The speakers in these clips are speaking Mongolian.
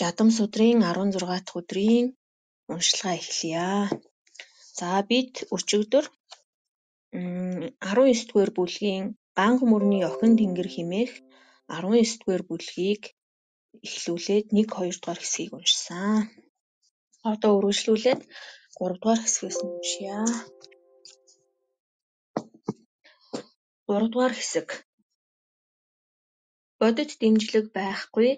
Жадам судрын 16 дахь өдрийн уншилгаа эхлэе. За бид өчигдөр 19 дугаар бүлгийн ганга мөрний охин тэнгэр хэмээх 19 дугаар бүлгийг эхлүүлээд 1-2 дугаар хэсгийг уншсан. Одоо үргэлжлүүлээд 3 дугаар хэсгээс нь уншия. 3 дугаар хэсэг. Бодит дэмжлэг байхгүй,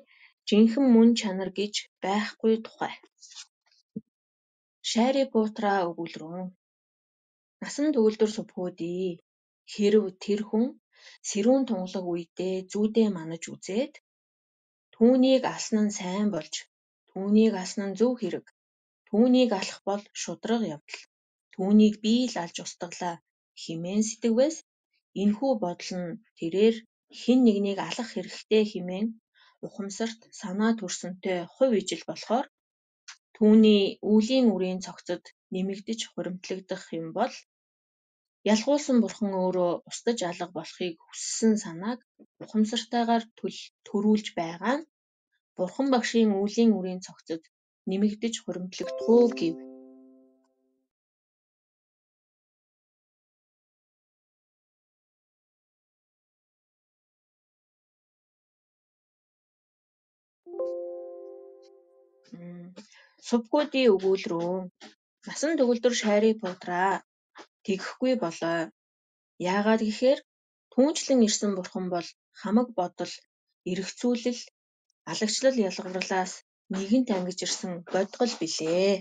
жинхэнэ мөн чанар гэж байхгүй тухай. Шайри Путра өгүүлрүүн. Насан төгөлдөр сувхүүдий. Хэрв тэр хүн сэрүүн тунгалаг үедээ зүүдээ манаж үзээд түүнийг алсан нь сайн болж, түүнийг алсан нь зөв хэрэг, түүнийг алах бол шударга явдал, түүнийг би л алж устгалаа хэмээн сэтгэвээс энэхүү бодол нь тэрээр хэн нэгнийг алах хэрэгтэй хэмээн ухамсарт санаа төрсөнтэй хувь ижил болохоор түүний үлийн үрийн цогцод нэмэгдэж хуримтлагдах юм бол ялгуулсан бурхан өөрөө устгаж алга болохыг хүссэн санааг ухамсартайгаар төрүүлж байгаа нь бурхан багшийн үлийн үрийн цогцод нэмэгдэж хуримтлагдах уу гэв. Сувхүүдийн өгүүлрүүн. Насан төгөлдөр Шайри Путра тэгэхгүй болоо. Яагаад гэхээр түүнчлэн ирсэн бурхан бол хамаг бодол, эргэцүүлэл, алагчлал ялгарлаас нэгэнт ангиж ирсэн бодгол билээ.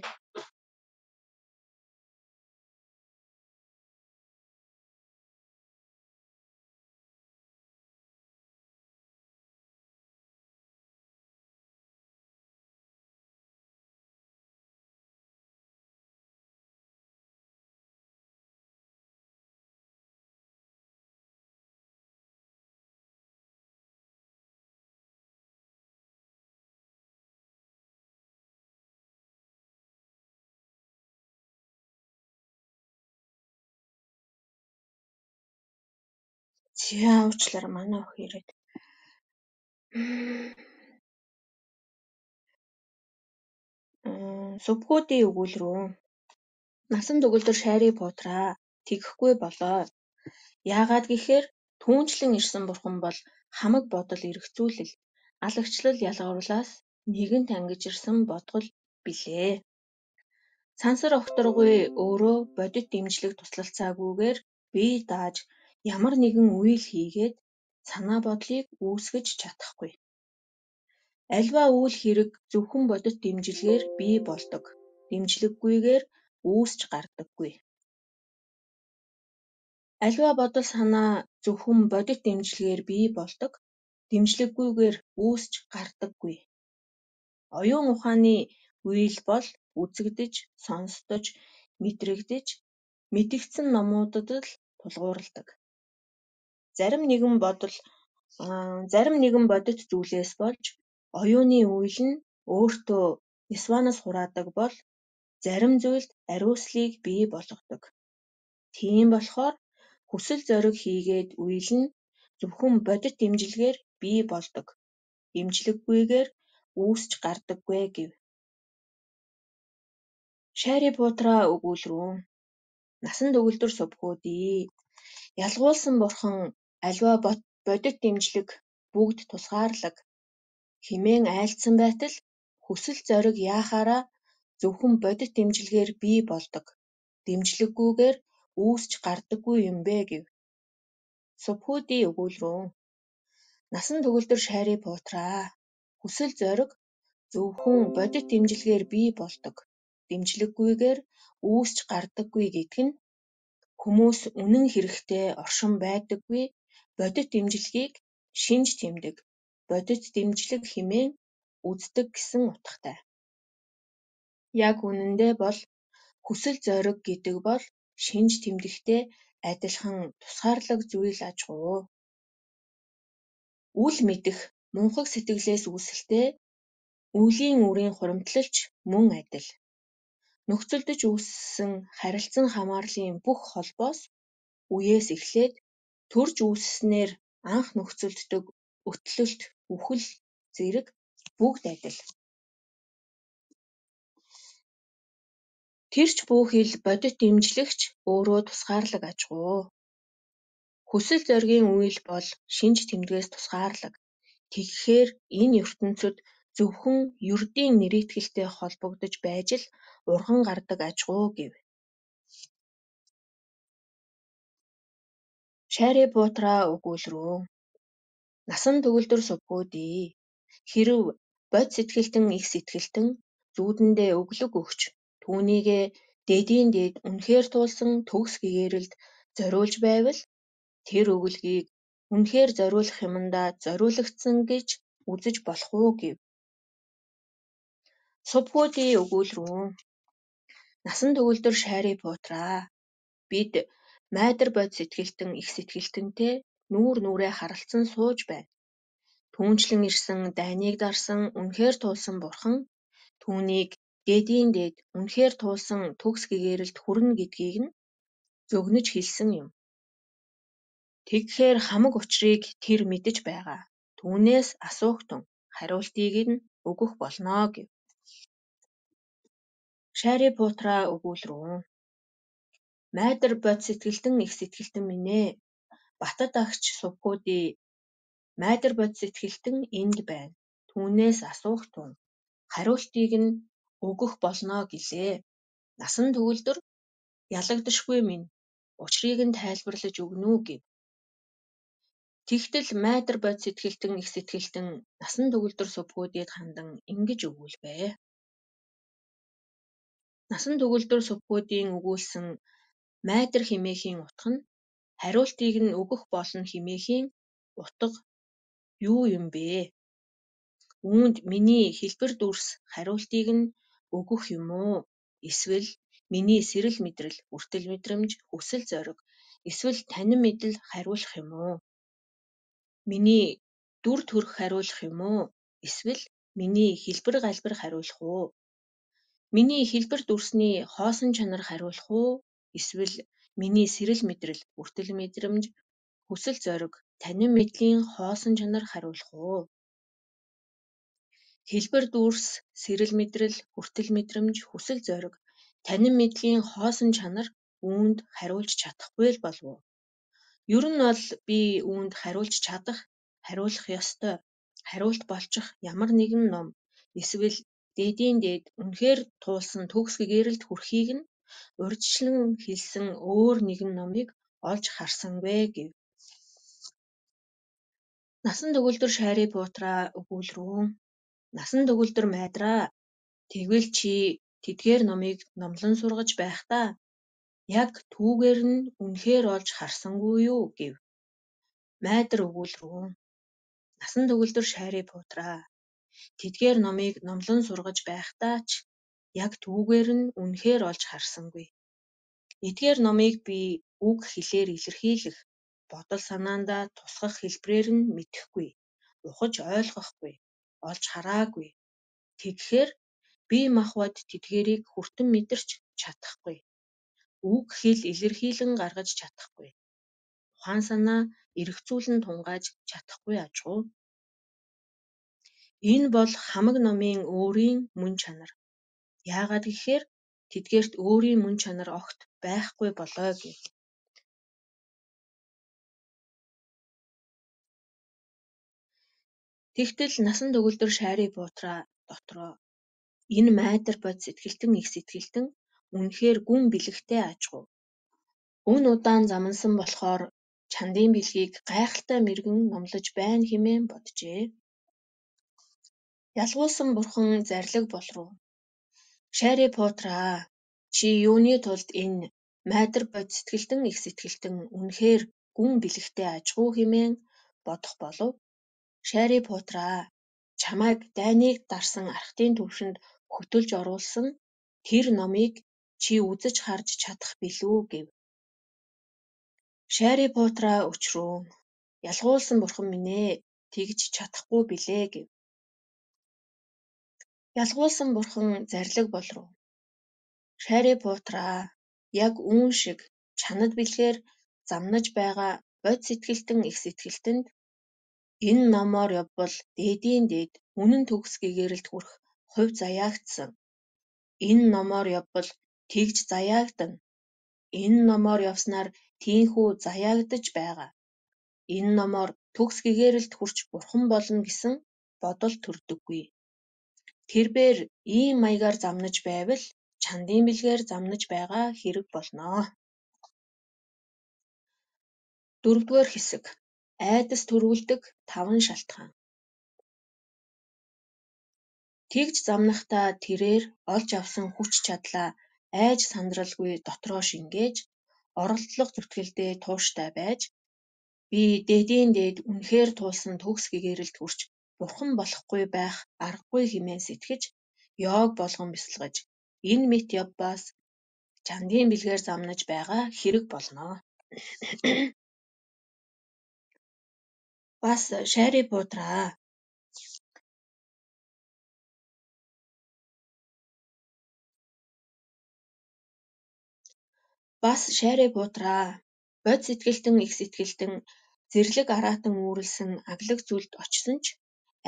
За уучлаарай манай охин ирээд. Сувхүүдийн өгүүлрүүн. Насан төгөлдөр Шайри Путра тэгэхгүй болоо. Яагаад гэхээр түүнчлэн ирсэн бурхан бол хамаг бодол, эргэцүүлэл, алагчлал ялгарлаас нэгэнт ангиж ирсэн бодгол билээ. Сансар огторгүй өөрөө бодит дэмжлэг туслалцаагүйгээр бие дааж ямар нэгэн үйл хийгээд санаа бодлыг үүсгэж чадахгүй. Альва үйл хэрэг зөвхөн бодит дэмжлэгээр бий болдог. Дэмжлэггүйгээр үүсч гардаггүй. Альва бодол санаа зөвхөн бодит дэмжлэгээр бий болдог. Дэмжлэггүйгээр үүсч гардаггүй. Оюун ухааны үйл бол үзэгдэж, сонсдож, мэдрэгдэж, мэдэгдсэн номуудад л тулгуурладаг. Зарим нэгэн бодит зүйлээс болж оюуны үйл нь өөртөө нисванаас хураадаг бол зарим зүйлд ариуслыг бий болгодог. Тийм болохоор хүсэл зориг хийгээд үйл нь зөвхөн бодит дэмжлэгээр бий болдог. Дэмжлэггүйгээр үүсч гардаггүй гэв. Шайри Путра өгүүлрүүн. Насан төгөлдөр сувхүүдий. Ялгуулсан бурхан альва бодит дэмжлэг бүгд тусгаарлаг хэмээн айлдсан байтал хүсэл зориг яахаараа зөвхөн бодит дэмжлэгээр бий болдог. Дэмжлэггүйгээр үүсч гардаггүй юм бэ гэв. Сувхүүдийн өгүүлрүүн. Насан төгөлдөр Шайри Путра. Хүсэл зориг зөвхөн бодит дэмжлэгээр бий болдог. Дэмжлэггүйгээр үүсч гардаггүй гэдэг нь хүмүүс үнэн хэрэгтээ оршин байдаггүй бодит дэмжлэгийг шинж тэмдэг, бодит дэмжлэг хэмээн үздэг гэсэн утгатай. Яг үнэндээ бол хүсэл зориг гэдэг бол шинж тэмдэгтэй адилхан тусгаарлаг зүйл аж ахуй. Үл мэдэх мунхаг сэтгэлээс үүсэлтэй үлийн үрийн хуримтлалч мөн адил. Нөхцөлдөж үүссэн харилцан хамаарлын бүх холбоос үеэс эхлээд төрж үүсснээр анх нөхцөлддөг өтлөлт, үхэл зэрэг бүгд адил. Тэрч бүхэл бодит имжлэгч өөрөө тусгаарлаг ажгүй. Хүсэл зоригийн үйл бол шинж тэмдгээс тусгаарлаг. Тэгэхээр энэ ертөнцид зөвхөн ердийн нэрэтгэлтэй холбогдож байж л урган гардаг ажгүй гэв. Шарри Путраа өгүүлрүүн. Насан төгөлдөр сувгуудий. Хэрв бод сэтгэлтэн их сэтгэлтэн зүүдэндээ өглөг өгч түүнийгээ дэдийн дэд үнэхээр туулсан төгс гэгээрэлд зориулж байвал тэр өглөгийг үнэхээр зориулах юмдаа зориулагдсан гэж үзэж болох уу гэв. Сувгуудий өгүүлрүүн. Насан төгөлдөр Шарри Путраа. Бид майдар бод сэтгэлтэн их сэтгэлтэнтэй нүүр нүрээ харалцсан сууж байна. Түүнчлэн ирсэн дайныг дарсан үнэхээр туулсан бурхан түүнийг дэдийн дэд үнэхээр туулсан төгс гэгээрэлд хүрнэ гэдгийг нь зөгнөж хэлсэн юм. Тэгэхээр хамаг учрыг тэр мэдэж байгаа. Түүнээс асуугтун хариултыг нь өгөх болно гэв. Шарри Путраа өгүүлрүүн. Майдар бод сэтгэлтэн их сэтгэлтэн минь ээ. Батад агч сувгуудий. Майдар бод сэтгэлтэн энд байна. Түүнээс асуугтун хариултыг нь өгөх болно гэлээ. Насан төгөлдөр ялагдашгүй минь учрыг нь тайлбарлаж өгнө үү гэв. Тэгтэл майдар бод сэтгэлтэн их сэтгэлтэн насан төгөлдөр сувгуудийд хандан ингэж өгүүлвэ. Насан төгөлдөр сувгуудийн өгүүлсэн майдар химээхийн утга нь хариултыг нь өгөх болно химээхийн утга юу юм бэ? Үүнд миний хэлбэр дүрс хариултыг нь өгөх юм уу? Эсвэл миний сэрэл мэдрэл, хүртэл мэдрэмж, хүсэл зориг, эсвэл танин мэдэл хариулах юм уу? Миний дүр төрх хариулах юм уу? Эсвэл миний хэлбэр галбир хариулах уу? Миний хэлбэр дүрсний хоосон чанар хариулах уу? Эсвэл миний сэрэл мэдрэл, хүртэл мэдрэмж, хүсэл зориг, танин мэдлийн хоосон чанар хариулах уу? Хэлбэр дүрс, сэрэл мэдрэл, хүртэл мэдрэмж, хүсэл зориг, танин мэдлийн хоосон чанар үүнд хариулж чадахгүй л болов уу? Ер нь бол би үүнд хариулж чадах, хариулах ёстой, хариулт болчих ямар нэгэн ном эсвэл дэдийн дэд үнэхээр туулсан төгс гэгээрэлд хүрэхийг нь урьдчилан хэлсэн өөр нэгэн номыг олж харсангүй гэв. Насан төгөлдөр Шарри Путраа өгүүлрүүн. Насан төгөлдөр майдраа. Тэгвэл чи тэдгээр номыг номлон сургаж байхдаа яг түүгээр нь үнэхээр олж харсангүй юу гэв. Майдар өгүүлрүүн. Насан төгөлдөр Шарри Путраа. Тэдгээр номыг номлон сургаж байхдаа ч яг түүгээр нь үнэхээр олж харсангүй. Эдгээр номыг би үг хэлээр илэрхийлэх, бодол санаандаа тусгах хэлбэрээр нь мэдэхгүй, ухаж ойлгохгүй, олж хараагүй. Тэгэхээр бие махбод тэдгээрийг хүртэн мэдэрч чадахгүй. Үг хэл илэрхийлэн гаргаж чадахгүй. Ухаан санаа эргцүүлэн тунгааж чадахгүй ажгүй. Энэ бол хамаг номын өөрийн мөн чанар. Яагаад гэхээр тэдгээрт өөрийн мөн чанар огт байхгүй болоо гэв. Тэгтэл насан төгөлдөр Шарри Путраа дотроо энэ майдар бод сэтгэлтэн их сэтгэлтэн үнэхээр гүн бэлэгтэй ажгүй. Өн удаан замнасан болохоор чандын бэлгийг гайхалтай мэргэн номлож байна хэмээн боджээ. Ялгуулсан бурхан зарлиг болруу. Шарри Путраа, чи юуны тулд энэ майдар бод сэтгэлтэн их сэтгэлтэн үнэхээр гүн бэлэгтэй ажгүй хэмээн бодох болов? Шарри Путраа, чамайг дайныг дарсан архтын түвшинд хөтөлж оруулсан тэр номыг чи үзэж харж чадах билүү гэв. Шарри Путраа өчрүүн. Ялгуулсан бурхан минь ээ, тэгж чадахгүй билээ гэв. Ялгуулсан бурхан зарлиг болруу. Шарри Путраа, яг үүн шиг чанад бэлгээр замнаж байгаа бод сэтгэлтэн их сэтгэлтэнд энэ номоор явбал дэдийн дэд үнэн төгс гэгээрэлд хүрэх хувь заяагдсан. Энэ номоор явбал Тэгж заяагдана. Энэ номоор явснаар тийхүү заяагдаж байгаа. Энэ номоор төгс гэгээрэлд хүрч бурхан болно гэсэн бодол төрдөггүй. Тэрбээр ийм маягаар замнаж байвал чандын бэлгээр замнаж байгаа хэрэг болно. 4-р хэсэг. Айдас төрүүлдэг 5 шалтгаан. Тэгж замнахдаа тэрээр олж авсан хүч чадлаа айж сандралгүй дотроо шингээж, оролдлого зүтгэлдээ тууштай байж, би дээдийн дээд үнэхээр туулсан төгс гэгээрэлд хүрч бурхан болохгүй байх аргагүй хэмээн сэтгэж, йог болгон бясалгаж, энэ мэт явбаас чандын бэлгээр замнаж байгаа хэрэг болно. Бас шайрыг буудраа. Бод сэтгэлтэн их сэтгэлтэн зэрлэг араатан үүрлсэн аглаг зүйлд очсон ч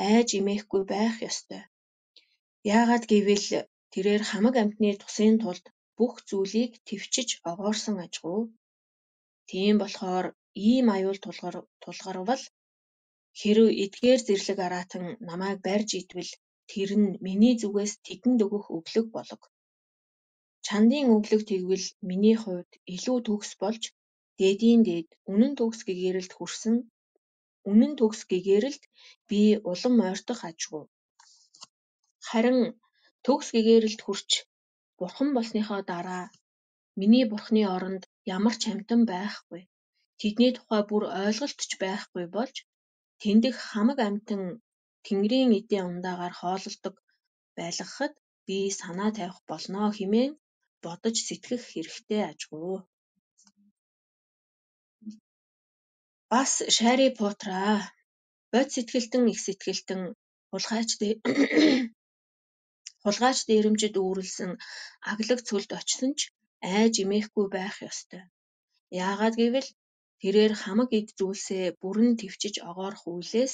айж имээхгүй байх ёстой. Яагаад гэвэл тэрээр хамаг амьтны тусын тулд бүх зүйлийг твчиж огоорсон ажгүй. Тийм болохоор ийм аюул тулгарвал хэрэв эдгээр зэрлэг араатан намайг барьж идвэл тэр нь миний зүгээс тэдэнд өгөх өглөг болог. Чандын өглөг тэгвэл миний хувьд илүү төгс болж дээдийн дээд үнэн төгс гэгээрэлд би улам ойртох ажгүй. Харин төгс гэгээрэлд хүрч бурхан болсныхоо дараа миний бурхны оронд ямар ч амьтан байхгүй. Тэдний тухай бүр ойлголт ч байхгүй болж тэндх хамаг амьтан Тэнгэрийн эдийн ундаагаар хоололдог байлгахад би санаа тавих болно хэмээн бодож сэтгэх хэрэгтэй ажгүй. Бас шайрыг буудраа. Бод сэтгэлтэн их сэтгэлтэн хулгайч дээрэмчид үүрлсэн аглаг цөлд очсон ч айж имээхгүй байх ёстой. Яагаад гэвэл тэрээр хамаг эд зүйлсээ бүрэн твчиж огоорох үйлээс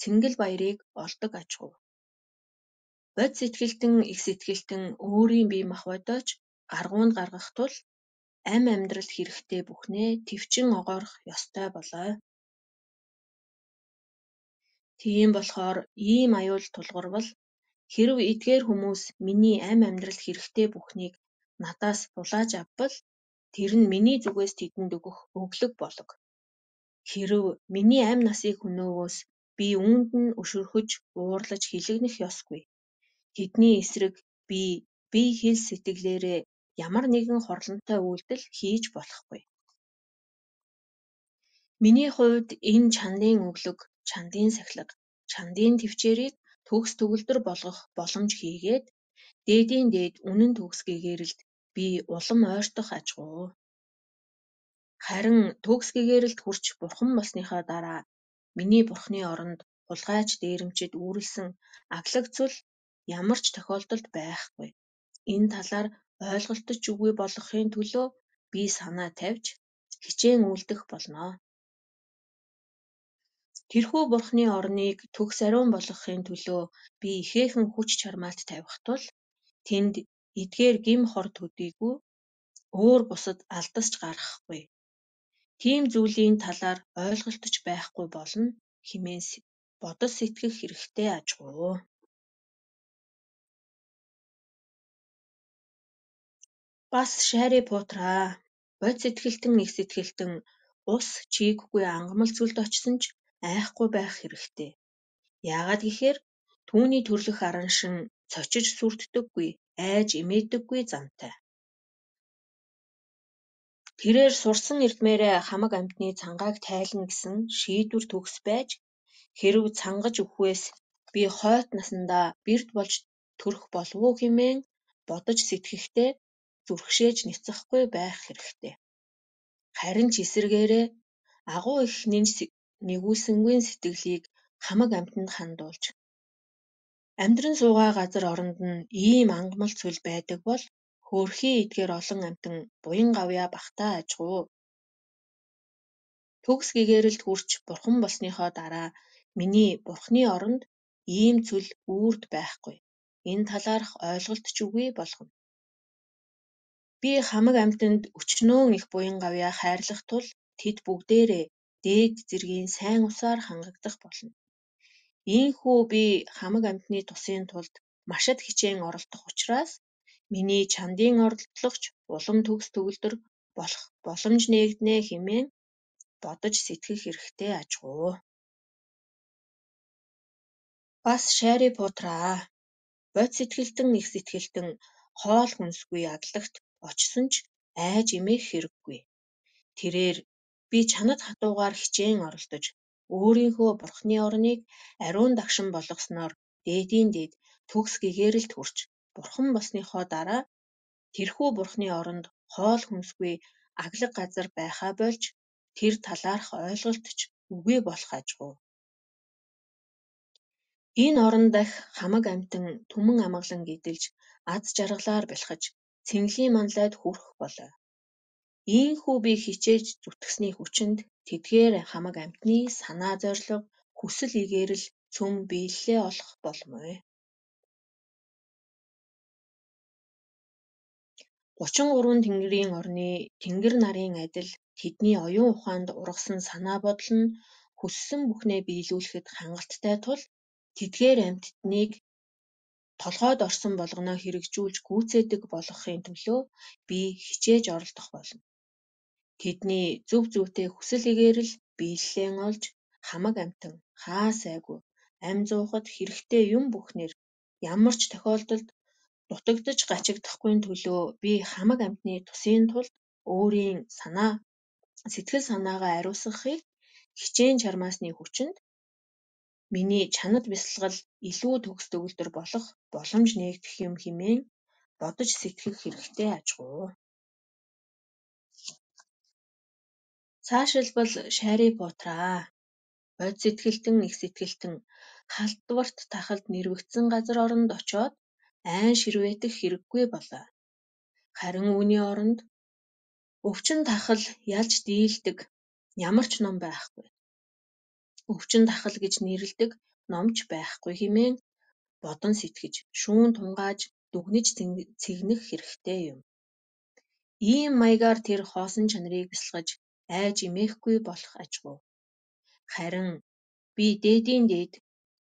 цэнгэл баярыг олдог ажгүй. Бод сэтгэлтэн их сэтгэлтэн өөрийн бие махбодооч гаргуунд гаргах тул амьдралд хэрэгтэй бүхнээ твчин огоорох ёстой болоо. Тийм болохоор ийм аюул тулгарвал хэрэв эдгээр хүмүүс миний амьдралд хэрэгтэй бүхнийг надаас булааж авбал тэр нь миний зүгээс тэдэнд өгөх өглөг болог. Хэрэв миний амь насыг хөнөөвөөс би үүнд нь өшөрхөж уурлаж хилэгнэх ёсгүй. Тэдний эсрэг би бие хэл сэтгэлээрээ ямар нэгэн хорлонтой үйлдэл хийж болохгүй. Миний хувьд энэ чандын өглөг, чандын сахилга, чандын твчээрийг төгс төгөлдөр болгох боломж хийгээд дээдийн дээд үнэн төгс гэгээрэлд би улам ойртох ажгүй. Харин төгс гэгээрэлд хүрч бурхан болсныхоо дараа миний бурхны оронд хулгайч дээрэмчид үүрлсэн аглаг цөл ямар ч тохиолдолд байхгүй. Энэ талаар ойлголтож үгүй болгохын төлөө би санаа тавьж хичээн үйлдэх болно. Тэрхүү бурхны орныг төгс ариун болгохын төлөө би ихээхэн хүч чармаалт тавих тул тэнд эдгээр гим хор төдийгүй өөр бусад алдасч гарахгүй. Тийм зүйлийн талаар ойлголтож байхгүй болно хэмээн бодож сэтгэх хэрэгтэй ажгүй. Бас шайрыг буудраа. Бод сэтгэлтэн их сэтгэлтэн ус чийггүй ангамл цөлд очсон ч айхгүй байх хэрэгтэй. Яагаад гэхээр түүний төрлөх араншин цочиж сүрддэггүй, айж имээдэггүй замтай. Тэрээр сурсан эрдмээрээ хамаг амьтны цангааг тайлна гэсэн шийдвэр төгс байж хэрэв цангаж өвхвээс би хойт насандаа бэрд болж төрөх болов уу хэмээн бодож сэтгэхдээ зүрхшээж няцахгүй байх хэрэгтэй. Харин ч эсэргээрээ агуу их нэгүүлсэнгүй сэтгэлийг хамаг амьтанд хандуулж амьдран суугаа газар оронд нь ийм ангамл цөл байдаг бол хөөрхий эдгээр олон амьтан буян гавьяа бахтай ажгүй. Төгс гэгээрэлд хүрч бурхан болсныхоо дараа миний бурхны оронд ийм цөл үрд байхгүй. Энэ талаарх ойлголтч үгүй болгоно. Би хамаг амьтанд өчнөөн их буянгавьяа хайрлах тул тэд бүгдээрээ дээд зэргийн сайн усаар хангагдах болно. Ийхүү би хамаг амьтны тусын тулд машад хичээн оролдох учраас миний чандын оролдлогч улам төгс төгөлдөр болох боломж нээгднэ хэмээн бодож сэтгэх хэрэгтэй ажгүй. Бас Шарри Поттераа бод сэтгэлтэн их сэтгэлтэн хоол хүнсгүй адлагт очсон ч айж эмээх хэрэггүй. Тэрээр би чанад хатуугаар хичээн оролдож өөрийнхөө бурхны орныг ариун дагшин болгосноор дээдийн дээд төгс гэгээрэлд хүрч бурхан болсныхоо дараа тэрхүү бурхны оронд хоол хүнсгүй аглаг газар байхаа болж тэр талаарх ойлголт ч үгүй болох ажгүй. Энэ орон дахь хамаг амьтан түмэн амгалан гидэлж аз жаргалаар бэлхэж цэнгэлийн манлайд хүрэх болой. Ийхүү би хичээж зүтгэсний хүчинд тэдгээр хамаг амьтны санаа зорилго хүсэл игээрэл цөм биелэлээ олох болмой. 33 тэнгэрийн орны тэнгэр нарын адил тэдний оюун ухаанд ургасан санаа бодол нь хүссэн бүхнээ биелүүлэхэд хангалттай тул тэдгээр амьтдыг толгойд орсон болгоноо хэрэгжүүлж гүйцээдэг болгохын төлөө би хичээж оролдох болно. Тэдний зөв зүйтэй хүсэл игээрэл биелэлээ олж хамаг амьтан хаа сайгүй амь зуухад хэрэгтэй юм бүхнэр ямар ч тохиолдолд дутагдж гачигдахгүй төлөө би хамаг амьтны тусын тулд өөрийн сэтгэл санаагаа ариусгахыг хичээн чармаасны хүчинд миний чанад бясалгал илүү төгс төгөлдөр болох боломж нээгдэх юм хэмээн бодож сэтгэх хэрэгтэй ажгүй. Цаашилбал Шарри Поттераа бод сэтгэлтэн их сэтгэлтэн халдварт тахалд нэрвэгдсэн газар оронд очоод айн ширвээтэх хэрэггүй болоо. Харин үүний оронд өвчин тахал ялж дийлдэг ямар ч ном байхгүй. Өвчин тахал гэж нэрлэдэг номч байхгүй хэмээн бодон сэтгэж шүүн тунгааж дүгнэж цэгнэх хэрэгтэй юм. Ийм маягаар тэр хоосон чанарыг бясалгаж айж эмээхгүй болох ажгүй. Харин би дээдийн дээд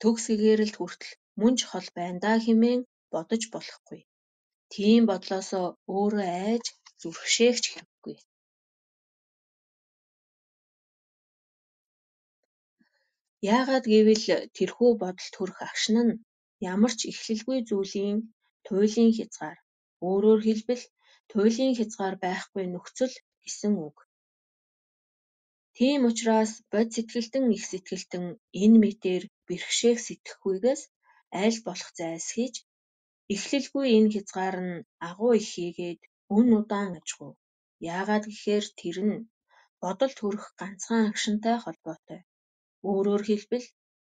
төгс гэгээрэлд хүртэл мөн ч хол байна даа хэмээн бодож болохгүй. Тийм бодлосоо өөрөө айж зүрхшээх ч хэрэггүй. Яагаад гэвэл тэрхүү бодолд хүрэх агшин нь ямар ч эхлэлгүй зүйлийн туйлын хязгаар, өөрөөр хэлбэл туйлын хязгаар байхгүй нөхцөл гэсэн үг. Тийм учраас бод сэтгэлтэн их сэтгэлтэн энэ мэтээр бэрхшээх сэтгэхгүйгээс аль болох зайлсхийж эхлэлгүй энэ хязгаар нь агуу их хийгээд өн удаан ажгүй. Яагаад гэхээр тэр нь бодолд хүрэх ганцхан агшинтай холбоотой. Өөрөөр хэлбэл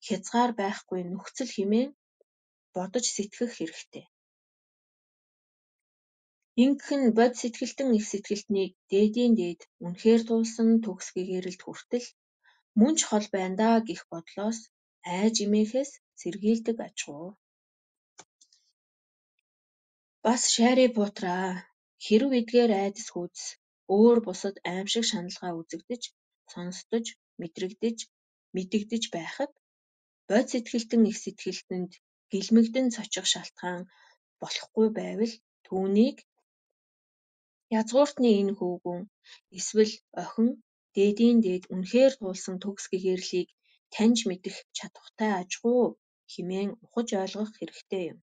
хязгаар байхгүй нөхцөл хэмээн бодож сэтгэх хэрэгтэй. Ингэх нь бод сэтгэлтэн их сэтгэлтнийг дээдийн дээд үнэхээр туулсан төгс гэгээрэлд хүртэл мөн ч хол байна даа гэх бодлоос айж эмээхээс сэргийлдэг ажгүй. Бас Шарри Поттераа хэрэв эдгээр айдас хүйдэс өөр бусад аимшиг шаналгаа үзэгдэж, сонсдож, мэдэгдэж байхад бод сэтгэлтэн их сэтгэлтэнд гэлмэгдэн цочих шалтгаан болохгүй байвал түүнийг язгууртны энэ хөвгүүн эсвэл охин дээдийн дээд үнэхээр туулсан төгс гэгэрлийг таньж мэдэх чадахтай ажгүй хэмээн ухаж ойлгох хэрэгтэй юм.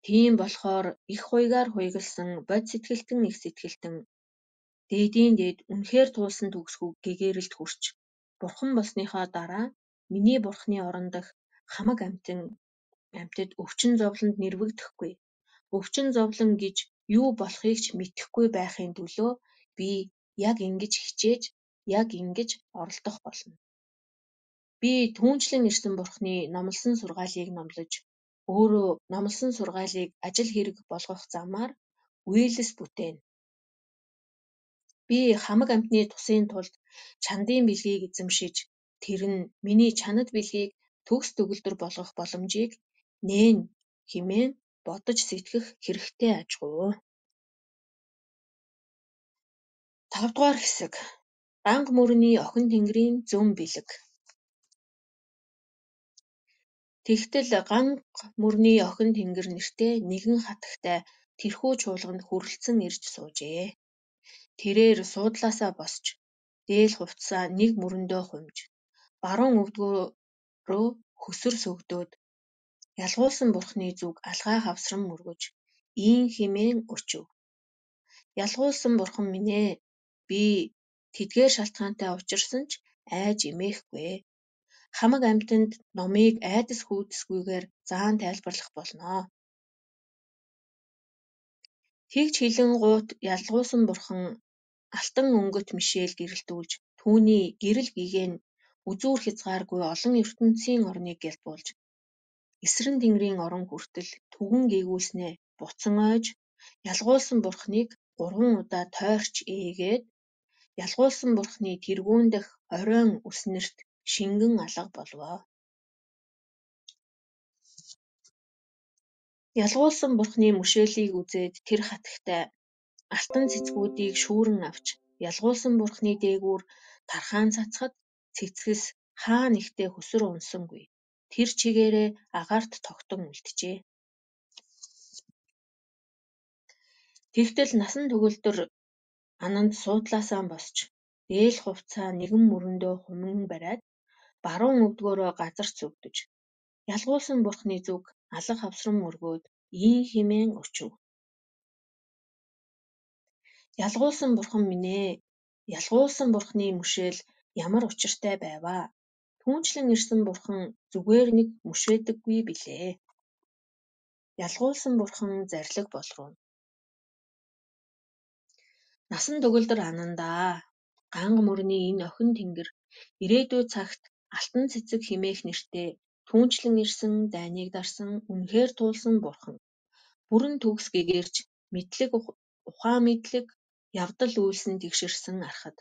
Тийм болохоор их хуйгаар хуйгалсан бод сэтгэлтэн их сэтгэлтэн дээдийн дээд үнэхээр туулсан төгс гэгээрэлд хүрч бурхан болсныхоо дараа миний бурхны орон дахь хамаг амьтад өвчин зовлонд нэрвэгдэхгүй. Өвчин зовлон гэж юу болохыг ч мэдэхгүй байхын төлөө би яг ингэж хичээж, яг ингэж оролдох болно. Би түүнчлэн ирсэн бурхны номлосон сургаалыг номлож, өөрөө номлосон сургаалыг ажил хэрэг болгох замаар үйлс бүтээнэ. Би хамаг амьтны тусын тулд чандын бэлгийг эзэмшиж, тэр нь миний чанад бэлгийг төгс төгөлдөр болгох боломжийг нээн хэмээн бодож сэтгэх хэрэгтэй ажгүй. 5 дугаар хэсэг. Ганга мөрний охин тэнгэрийн зөн бэлэг. Тэгтэл ганга мөрний охин тэнгэр нэртэй нэгэн хатагтай тэрхүү чуулганд хүрэлцэн ирж суужээ. Тэрээр суудлаасаа босч дээл хувцсаа нэг мөрөндөө хумж баруун өвдгөө хөсөр сөгдөөд ялгуулсан бурхны зүг алгаа хавсран мөргөж ийн хэмээн өчөв. Ялгуулсан бурхан минь ээ, би тэдгээр шалтгаантай учирсан ч айж эмээхгүй. Хамаг амьтанд номыг айдас хүйдэсгүйгээр заан тайлбарлах болно. Тэгж хэлэн гуйт ялгуулсан бурхан алтан өнгөт мишэл гэрэлтүүлж түүний гэрэл гэгээн үзүүр хязгааргүй олон ертөнцийн орныг гялбуулж эсрэн тэнгэрийн орон хүртэл түгэн гээгүүлснээ буцан ойж ялгуулсан бурханыг 3 удаа тойрч ээгээд ялгуулсан бурханы тэргүүн дэх оройн үснэрт шингэн алга болвоо. Ялгуулсан бурханы мөшөөлийг үзээд тэр хатагтай алтан цэцгүүдийг шүүрэн авч ялгуулсан бурханы дээгүүр тархаан цацхад цэцгэс хаа нэгтээ хөсөр унсангүй. Тэр чигээрээ агаарт тогтон үлджээ. Тэгтэл насан төгөлдөр ананд суудлаасаа босч дээл хувцаа нэгэн мөрөндөө хуман бариад баруун өвдгөөрөө газар цөвдөж ялгуулсан бурханы зүг алга хавсран мөргөөд ийн хэмээн өчөв. Ялгуулсан бурхан минь ээ, ялгуулсан бурханы мөшөөл ямар учиртай байваа. Түүнчлэн ирсэн бурхан зүгээр нэг мөшөөдөггүй билээ. Ялгуулсан бурхан зарлиг болрууна. Насан төгөлдөр анандаа ганга мөрний энэ охин тэнгэр ирээдүй цагт алтан цэцэг хэмээх нэртэй түүнчлэн ирсэн дайныг дарсан үнэхээр туулсан бурхан бүрэн төгс гэгэрч мэдлэг ухаан мэдлэг явдал үйлсэн тэгшэрсэн арахад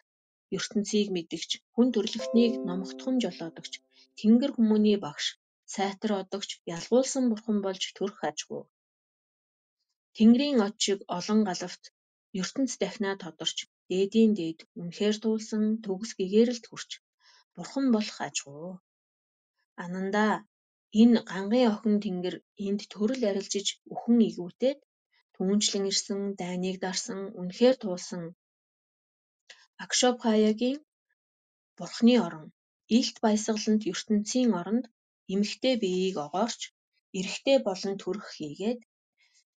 ертөнцийг мэдэгч хүн төрлөختнийг номогдхон жолоодогч тэнгэр хүмүүний багш сайтар одогч ялгуулсан бурхан болж төрөх ажгүй. Тэнгэрийн од шиг олон галавт ертөнц дахинаа тодорч дээдийн дээд үнэхээр туулсан төгс гэгээрэлд хүрч бурхан болох ажгүй. Анандаа энэ гангын охин тэнгэр энд төрөл арилжиж үхэн игүүтээд түүнчлэн ирсэн дайныг дарсан үнэхээр туулсан Акшопхаягийн бурхны орон илт баясгалант ертөнцийн оронд эмэгтэй биеийг огоорч эрэгтэй болон төрөх хийгээд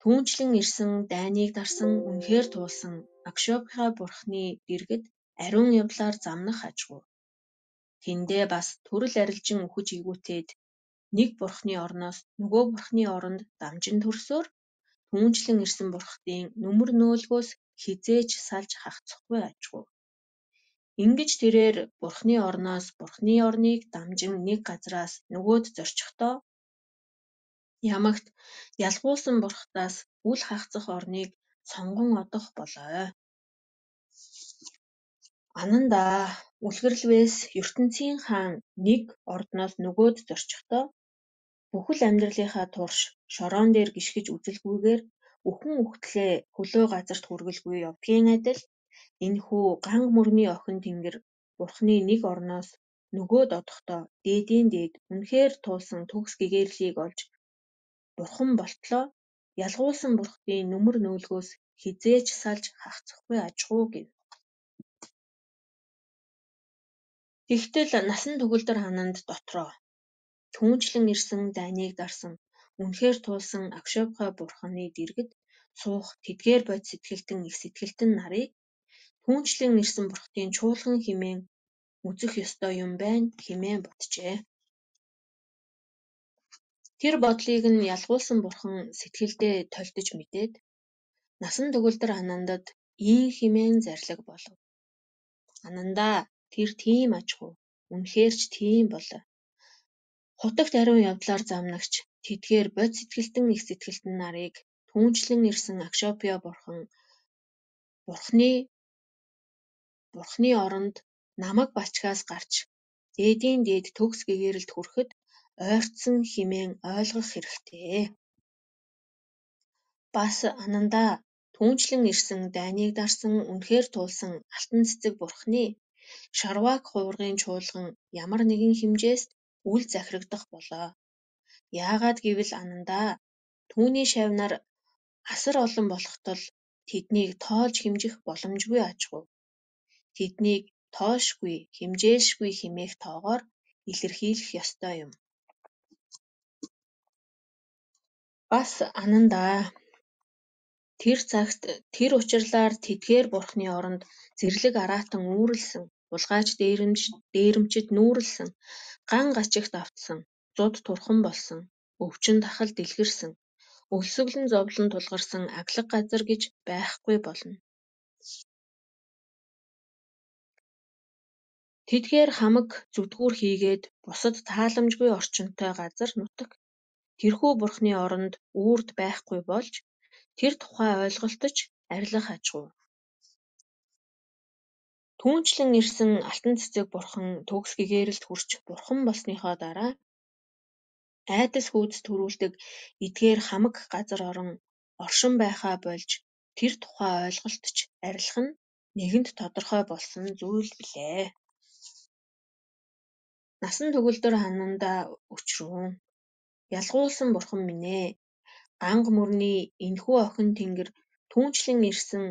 түүнчлэн ирсэн дайныг дарсан үнэхээр туулсан Акшопха бурхны дэргэд ариун явдлаар замнах ажгүй. Тэндээ бас төрөл арилжин үхэж игүүтээд нэг бурхны орноос нөгөө бурхны оронд дамжин төрсөөр түүнчлэн ирсэн бурхтын нүмер нөөлгөөс хизээж салж хагацхгүй ажгүй. Ингэж тэрээр бурхны орноос бурхны орныг дамжин нэг газраас нөгөөд зорчихдоо ямагт ялгуулсан бурхтаас үл хагацах орныг сонгон одох болоо. Анандаа үлгэрлвээс ертөнцийн хаан нэг ордноос нөгөөд зорчихдоо бүхэл амьдралынхаа турш шороон дээр гიშгэж үзэлгүйгээр үхэн үхтлээ хөлөө газарт хүргэлгүй явдгийн адил энэхүү ганга мөрний охин тэнгэр бурхны нэг орноос нөгөөд одохдоо дээдийн дээд үнэхээр туулсан төгс гэгээрлийг олж бурхан болтлоо ялгуулсан бурхтын нүмер нөөлгөөс хизээж салж хагацхгүй ажгүй гэв. Тэгтэл насан төгөлдөр ананд дотроо түүнчлэн ирсэн дайныг дарсан үнэхээр туулсан Акшопха бурханы дэргэд суух тэдгээр бод сэтгэлтэн их сэтгэлтэн нарыг түүнчлэн ирсэн бурхтын чуулган хэмээн үзэх ёстой юм байна хэмээн боджээ. Тэр бодлыг нь ялгуулсан бурхан сэтгэлдээ тольдож мэдээд насан төгөлдөр анандад ийн хэмээн зарлиг болов. Анандаа тэр тийм ажгүй үнэхээр ч тийм болоо. Хутагт ариун явдлаар замнагч тэдгээр бод сэтгэлтэн их сэтгэлтэн нарыг түүнчлэн ирсэн Акшопья бурхны оронд намаг бачгаас гарч дээдийн дээд төгс гэгээрэлд хүрэхэд ойртсон хэмээн ойлгох хэрэгтэй. Бас анандаа Түүнчлэн ирсэн дайныг дарсан үнэхээр туулсан алтан цэцэг бурхны Шарвак хувиргын чуулган ямар нэгэн хэмжээст үл захирагдах болоо. Яагаад гэвэл анандаа түүний шавнаар асар олон болох тул тэднийг тоолж хэмжих боломжгүй аж ахуй. Тэднийг тоошгүй, хэмжээлшгүй хэмээх тоогоор илэрхийлэх ёстой юм. Бас анандаа тэр цагт тэр учирлаар тэдгээр бурхны оронд зэрлэг араатан үүрлсэн, улгайч дээрэмчид нүүрлсэн, ган гачигт автсан, зуд турхан болсон, өвчин тахал дэлгэрсэн, өлсгөлн зовлон тулгарсан аглаг газар гэж байхгүй болно. Тэдгээр хамаг зүтгүүр хийгээд бусад тааламжгүй орчинтой газар нутаг тэрхүү бурхны оронд үрд байхгүй болж тэр тухай ойлголтож арилгах аж ахуй. Түүнчлэн ирсэн алтан цэцэг бурхан төгс гэгээрэлд хүрч бурхан болсныхоо дараа айдас хүйдэс төрүүлдэг эдгээр хамаг газар орон оршин байхаа болж тэр тухай ойлголтож арилгах нь нэгэнт тодорхой болсон зүйл билээ. Насан төгөлдөр ханандаа өчрүүн. Ялгуулсан бурхан минь ээ. Ганга мөрний энэхүү охин тэнгэр түүнчлэн ирсэн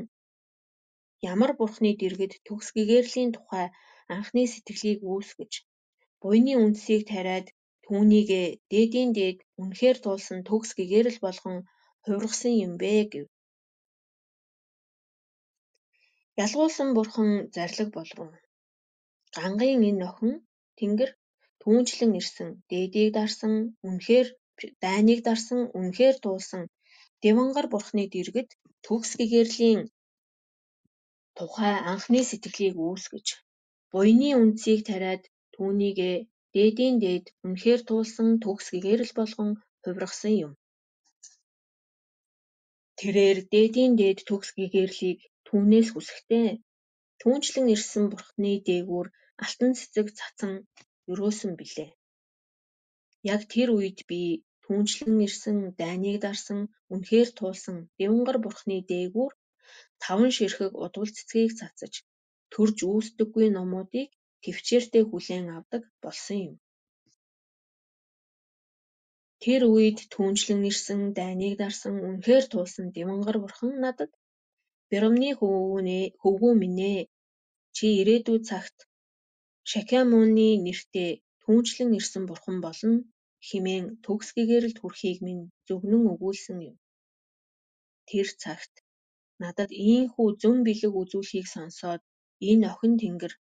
ямар бурхны дэргэд төгс гэгэрлийн тухай анхны сэтгэлийг үүсгэж, буйны үндсийг тариад түүнийгээ дээдийн дээд үнэхээр туулсан төгс гэгэрэл болгон хувиргасан юм бэ гэв. Ялгуулсан бурхан зарлиг болруу. Гангын энэ охин тэнгэр түүнчлэн ирсэн дээдийг дарсан үнэхээр дайныг дарсан үнэхээр туулсан Девангар бурхны дэргэд төгс гэгэрлийн тухай анхны сэтгэлийг үүсгэж, буйны үндсийг тариад түүнийгээ дээдийн дээд үнэхээр туулсан төгс гэгэрэл болгон хувиргасан юм. Тэрээр дээдийн дээд төгс гэгэрлийг түүнээс хүсэхдээ түүнчлэн ирсэн бурхны дээгүүр алтан цэцэг цацан өрөөсөн билээ. Яг тэр үед би түүнчлэн ирсэн дайныг дарсан үнэхээр туулсан Девангар бурхны дээгүүр 5 ширхэг удвал цэцгийг цацаж төрж үүсдэггүй номуудыг тэвчээртэй хүлээн авдаг болсон юм. Тэр үед түүнчлэн ирсэн дайныг дарсан үнэхээр туулсан Девангар бурхан надад Биромны хөвгүү минь ээ, чи ирээдүйд цагт Шакямуны нэртэй түүнчлэн ирсэн бурхан болно хэмээн төгс гэгэрэлд хүрэхийг минь зөвгнөн өгүүлсэн юм. Тэр цагт надад ийхүү зөн бэлэг үзүүлэхийг сонсоод энэ охин тэнгэр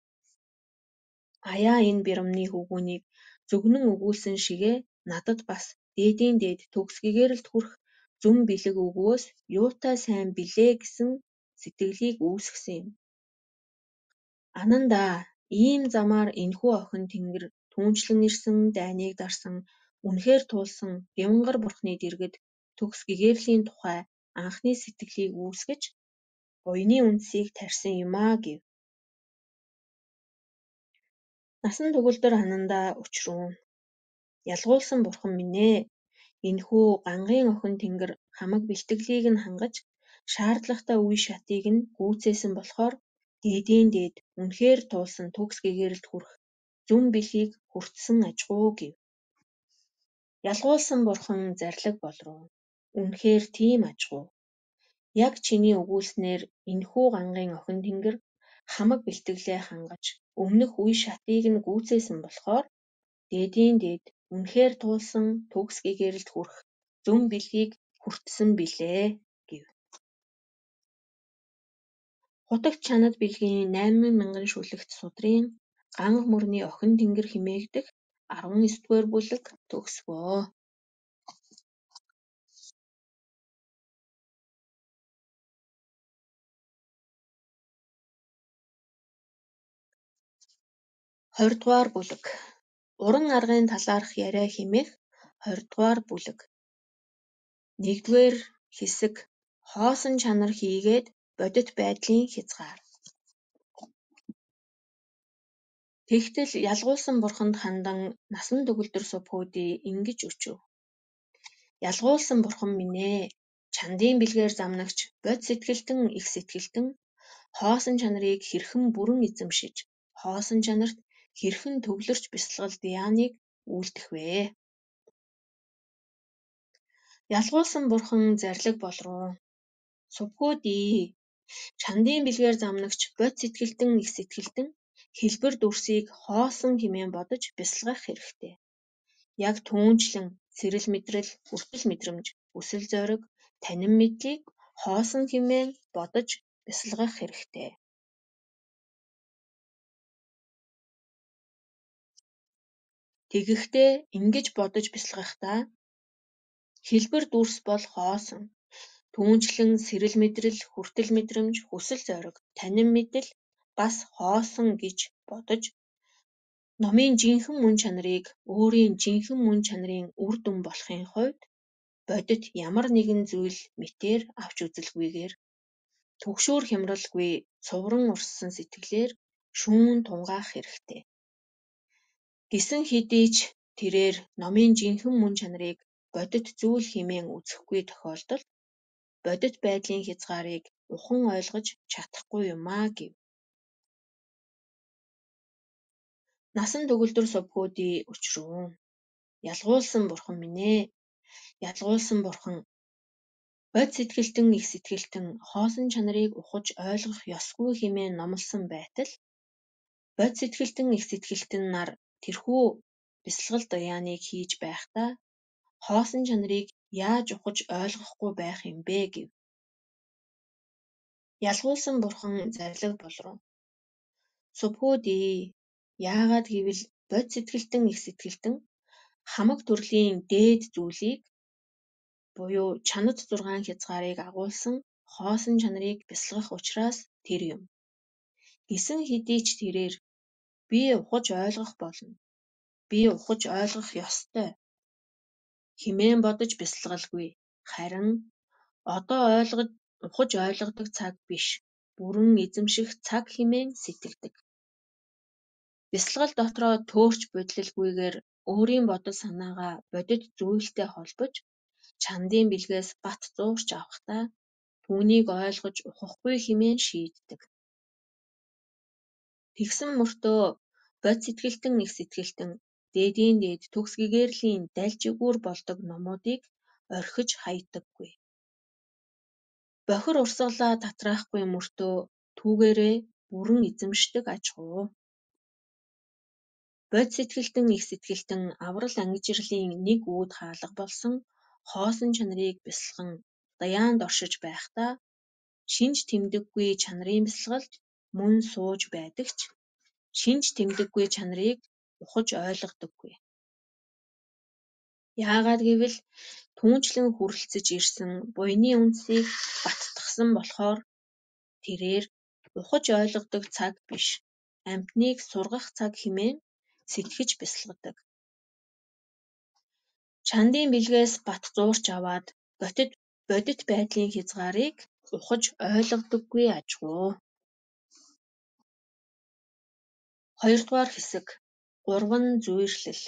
аяа энэ Биромны хөвгүүнийг зөвгнөн өгүүлсэн шигээ надад бас дээдийн дээд төгс гэгэрэлд хүрэх зөн бэлэг өгвөөс юутай сайн билээ гэсэн сэтгэлийг үүсгэсэн юм. Анандаа ийм замаар энэхүү охин тэнгэр түүнчлэн ирсэн дайныг дарсан үнэхээр туулсан Девангар бурхны дэргэд төгс гэгэрлийн тухай анхны сэтгэлийг үүсгэж буйны үндсийг тарьсан юмаа гэв. Насан төгөлдөр ханандаа өчрүүн. Ялгуулсан бурхан минь ээ. Энэхүү гангын охин тэнгэр хамаг бэлтгэлийг нь хангаж шаардлагатай үе шатыг нь гүйцээсэн болохоор дээдийн дээд үнэхээр туулсан төгс гэгэрэлд хүрэх зөн бэлгийг хүртсэн ажгуу гэв. Ялгуулсан бурхан зарлиг болруу. Үнэхээр тийм ажгуу. Яг чиний өгүүлснээр энэхүү гангын охин тэнгэр хамаг бэлтгэлээ хангаж өмнөх үе шатыг нь гүйцээсэн болохоор дээдийн дээд үнэхээр туулсан төгс гэгэрэлд хүрэх зөн бэлгийг хүртсэн билээ гэв. Хутагт чанад бэлгийн 8,000 шүлэгт судрын ганга мөрний охин тэнгэр хэмээгдэх 19-р бүлэг төгсгөө. Хоёрдугаар бүлэг. Уран аргын талаарх яриа хэмээх 20-р бүлэг. 1-р хэсэг хоосон чанар хийгээд бодит байдлын хязгаар. Тэгтэл ялгуулсан бурханд хандан насан төгөлдөр субхүүдий ингэж өчөв. Ялгуулсан бурхан минь ээ, Чандын бэлгээр замнагч бод сэтгэлтэн их сэтгэлтэн хоосон чанарыг хэрхэн бүрэн эзэмшиж, хоосон чанарт хэрхэн төвлөрч бясалгалд яаныг үйлдэх вэ? Ялгуулсан бурхан зарлиг болруу. Сувгуудий. Чандын бэлгээр замнагч бод сэтгэлтэн их сэтгэлтэн хэлбэр дүрсийг хоосон хэмээн бодож бясалгах хэрэгтэй. Яг түүнчлэн сэрэл мэдрэл, хүртэл мэдрэмж, өсөл зориг, танин мэдлийг хоосон хэмээн бодож бясалгах хэрэгтэй. Тэгэхдээ ингэж бодож бясалгахдаа хэлбэр дүрс бол хоосон. Түүнчлэн сэрэл мэдрэл, хүртэл мэдрэмж, хүсэл зориг, танин мэдэл бас хоосон гэж бодож номын жинхэнэ мөн чанарыг өөрийн жинхэнэ мөн чанарын үр дүн болохын хувьд бодит ямар нэгэн зүйл мэтээр авч үзэлгүйгээр түгшүүр хямралгүй цувран урссан сэтгэлээр шүүн тунгаах хэрэгтэй. Гэсэн хэдий ч тэрээр номын жинхэнэ мөн чанарыг бодит зүйл хэмээн үзэхгүй тохиолдолд бодит байдлын хязгаарыг ухан ойлгож чадахгүй юмаа гэв. Насан төгөлдөр сувгуудий учруу. Ялгуулсан бурхан минь ээ. Ялгуулсан бурхан бод сэтгэлтэн их сэтгэлтэн хоосон чанарыг ухаж ойлгох ёсгүй хэмээн номлосон байтал бод сэтгэлтэн их сэтгэлтэн нар тэрхүү бясалгал даяаныг хийж байхдаа хоосон чанарыг яаж ухаж ойлгохгүй байх юм бэ гэв. Ялгуулсан бурхан зарлиг болруу. Сувгуудий. Яагаад гэвэл бод сэтгэлтэн их сэтгэлтэн хамаг төрлийн дээд зүйлийг буюу чанад 6 хязгаарыг агуулсан хоосон чанарыг бясалгах учраас тэр юм. Гэсэн хэдий ч тэрээр би ухаж ойлгох болно. Би ухаж ойлгох ёстой хэмээн бодож бясалгалгүй. Харин одоо ухаж ойлгодог цаг биш. Бүрэн эзэмших цаг хэмээн сэтгэдэг. Бясалгал дотроо төөрч бодлолгүйгээр өөрийн бодол санаагаа бодит зүйлтэй холбож чандын бэлгээс бат зуурч авахдаа түүнийг ойлгож ухахгүй хэмээн шийддэг. Тэгсэн мөртөө бод сэтгэлтэн их сэтгэлтэн дээдийн дээд төгс гэгэрлийн дальжигүүр болдог номуудыг орхиж хаядаггүй. Бохир урсгалаа татраахгүй мөртөө түүгээрээ бүрэн эзэмшдэг аж ахуй. Бод сэтгэлтэн их сэтгэлтэн аврал ангижирлын нэг үүд хаалга болсон хоосон чанарыг бясалган даяанд оршиж байхдаа шинж тэмдэггүй чанарын бясалгалд мөн сууж байдаг ч шинж тэмдэггүй чанарыг ухаж ойлгодоггүй. Яагаад гэвэл түүнчлэн хүрэлцэж ирсэн буйны үндсийг баттгсан болохоор тэрээр ухаж ойлгодог цаг биш, амьтныг сургах цаг хэмээн сэтгэж бясалгадаг. Чандын бэлгээс бат зуурч аваад бодит байдлын хязгаарыг ухаж ойлгодоггүй аж ахуй. 2-р хэсэг 3 зүйрлэл.